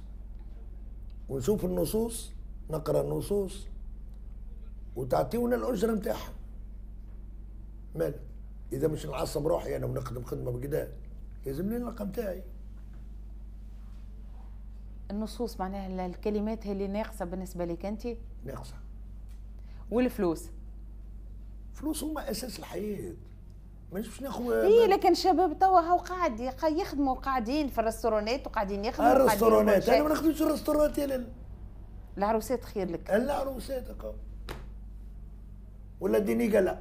ونشوف النصوص، نقرا النصوص وتعطيونا الاجرة نتاعها. مال اذا مش نعصب روحي انا ونخدم خدمة بكدا يلزمني الرقم تاعي. النصوص معناها الكلمات هي اللي ناقصه بالنسبة لك انت؟ ناقصه. والفلوس؟ فلوس هما اساس الحياة. مانيش باش ناخذ. اي لكن الشباب توا هاو قاعد يخدموا قاعدين في الريستورونات وقاعدين يخدموا. الريستورونات انا ما نخدمش الريستورونات يا لالا. العروسات خير لك. العروسات هكا ولا dîner gala.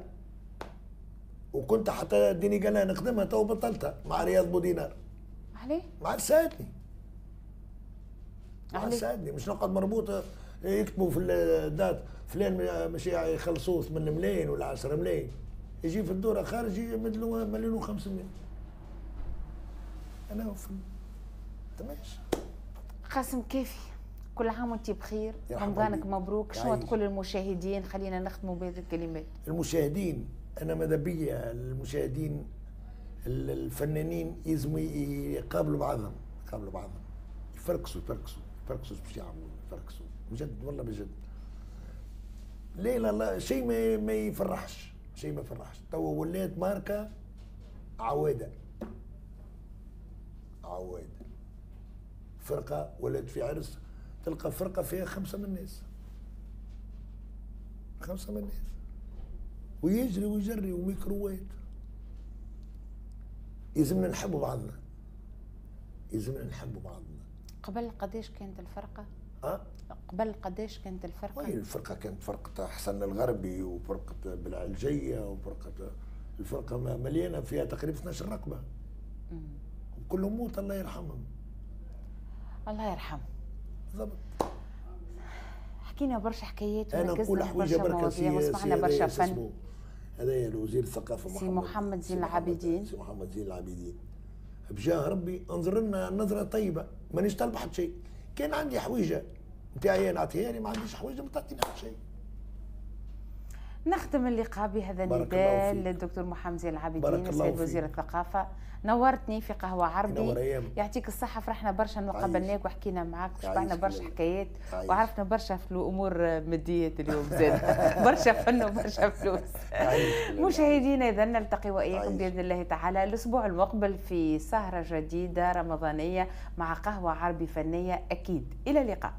وكنت حتى dîner gala نخدمها تو بطلتها مع رياض بودينار. عليه؟ ما عادش ساعدني. ما عادش ساعدني، مش نقعد مربوطة يكتبوا في ال date فلان مش يخلصوه ثمانية ملايين ولا عشرة ملايين، يجي في الدورة خارج يمد له مليون وخمسمية. انا في تماش. قاسم كافي، كل عام وانت بخير، رمضانك مبروك، شنو تقول للمشاهدين؟ خلينا نختموا بهذه الكلمات. المشاهدين انا ماذا بيا المشاهدين الفنانين يلزموا يقابلوا بعضهم، يقابلوا بعضهم، يفركسوا يفركسوا يفركسوا باش يعملوا يفركسوا بجد والله بجد. لا لا لا شيء ما ما يفرحش، شيء ما يفرحش، توا ولات ماركة عواده. عواده. فرقه ولات في عرس تلقى فرقه فيها خمسة من الناس. خمسة من الناس. ويجري ويجري وميكروات. يلزمنا نحبوا بعضنا. يلزمنا نحبوا بعضنا. قبل قداش كانت الفرقة؟ أه؟ قبل قداش كانت الفرقة؟ وي الفرقة كانت فرقة حسن الغربي وفرقة بالعلجية وفرقة الفرقة مليانة فيها تقريبا اثناش رقبة. كلهم موت الله يرحمهم. الله يرحمه. بالضبط. حكينا برشا حكايات انا نقول حويجه بركة سي وسمعنا برشا فن. هذايا الوزير الثقافة سي محمد زين العابدين. سي محمد زين العابدين بجاه ربي انظر لنا نظره طيبة، مانيش طالب حتى شيء. كان عندي حويجه نتاعي نعطيها لي، ما عنديش حويجه ما تعطيني حتى شيء. نختم اللقاء بهذا النداء للدكتور محمد زين العابدين السيد وزير الثقافة. نورتني في قهوة عربي، يعطيك الصحة، فرحنا برشا انه قابلناك وحكينا معاك وشبعنا برشا حكايات وعرفنا برشا في الامور ماديات اليوم زاد برشا فن وبرشا فلوس. مشاهدينا اذا نلتقي واياكم باذن الله تعالى الاسبوع المقبل في سهرة جديدة رمضانية مع قهوة عربي فنية اكيد. الى اللقاء.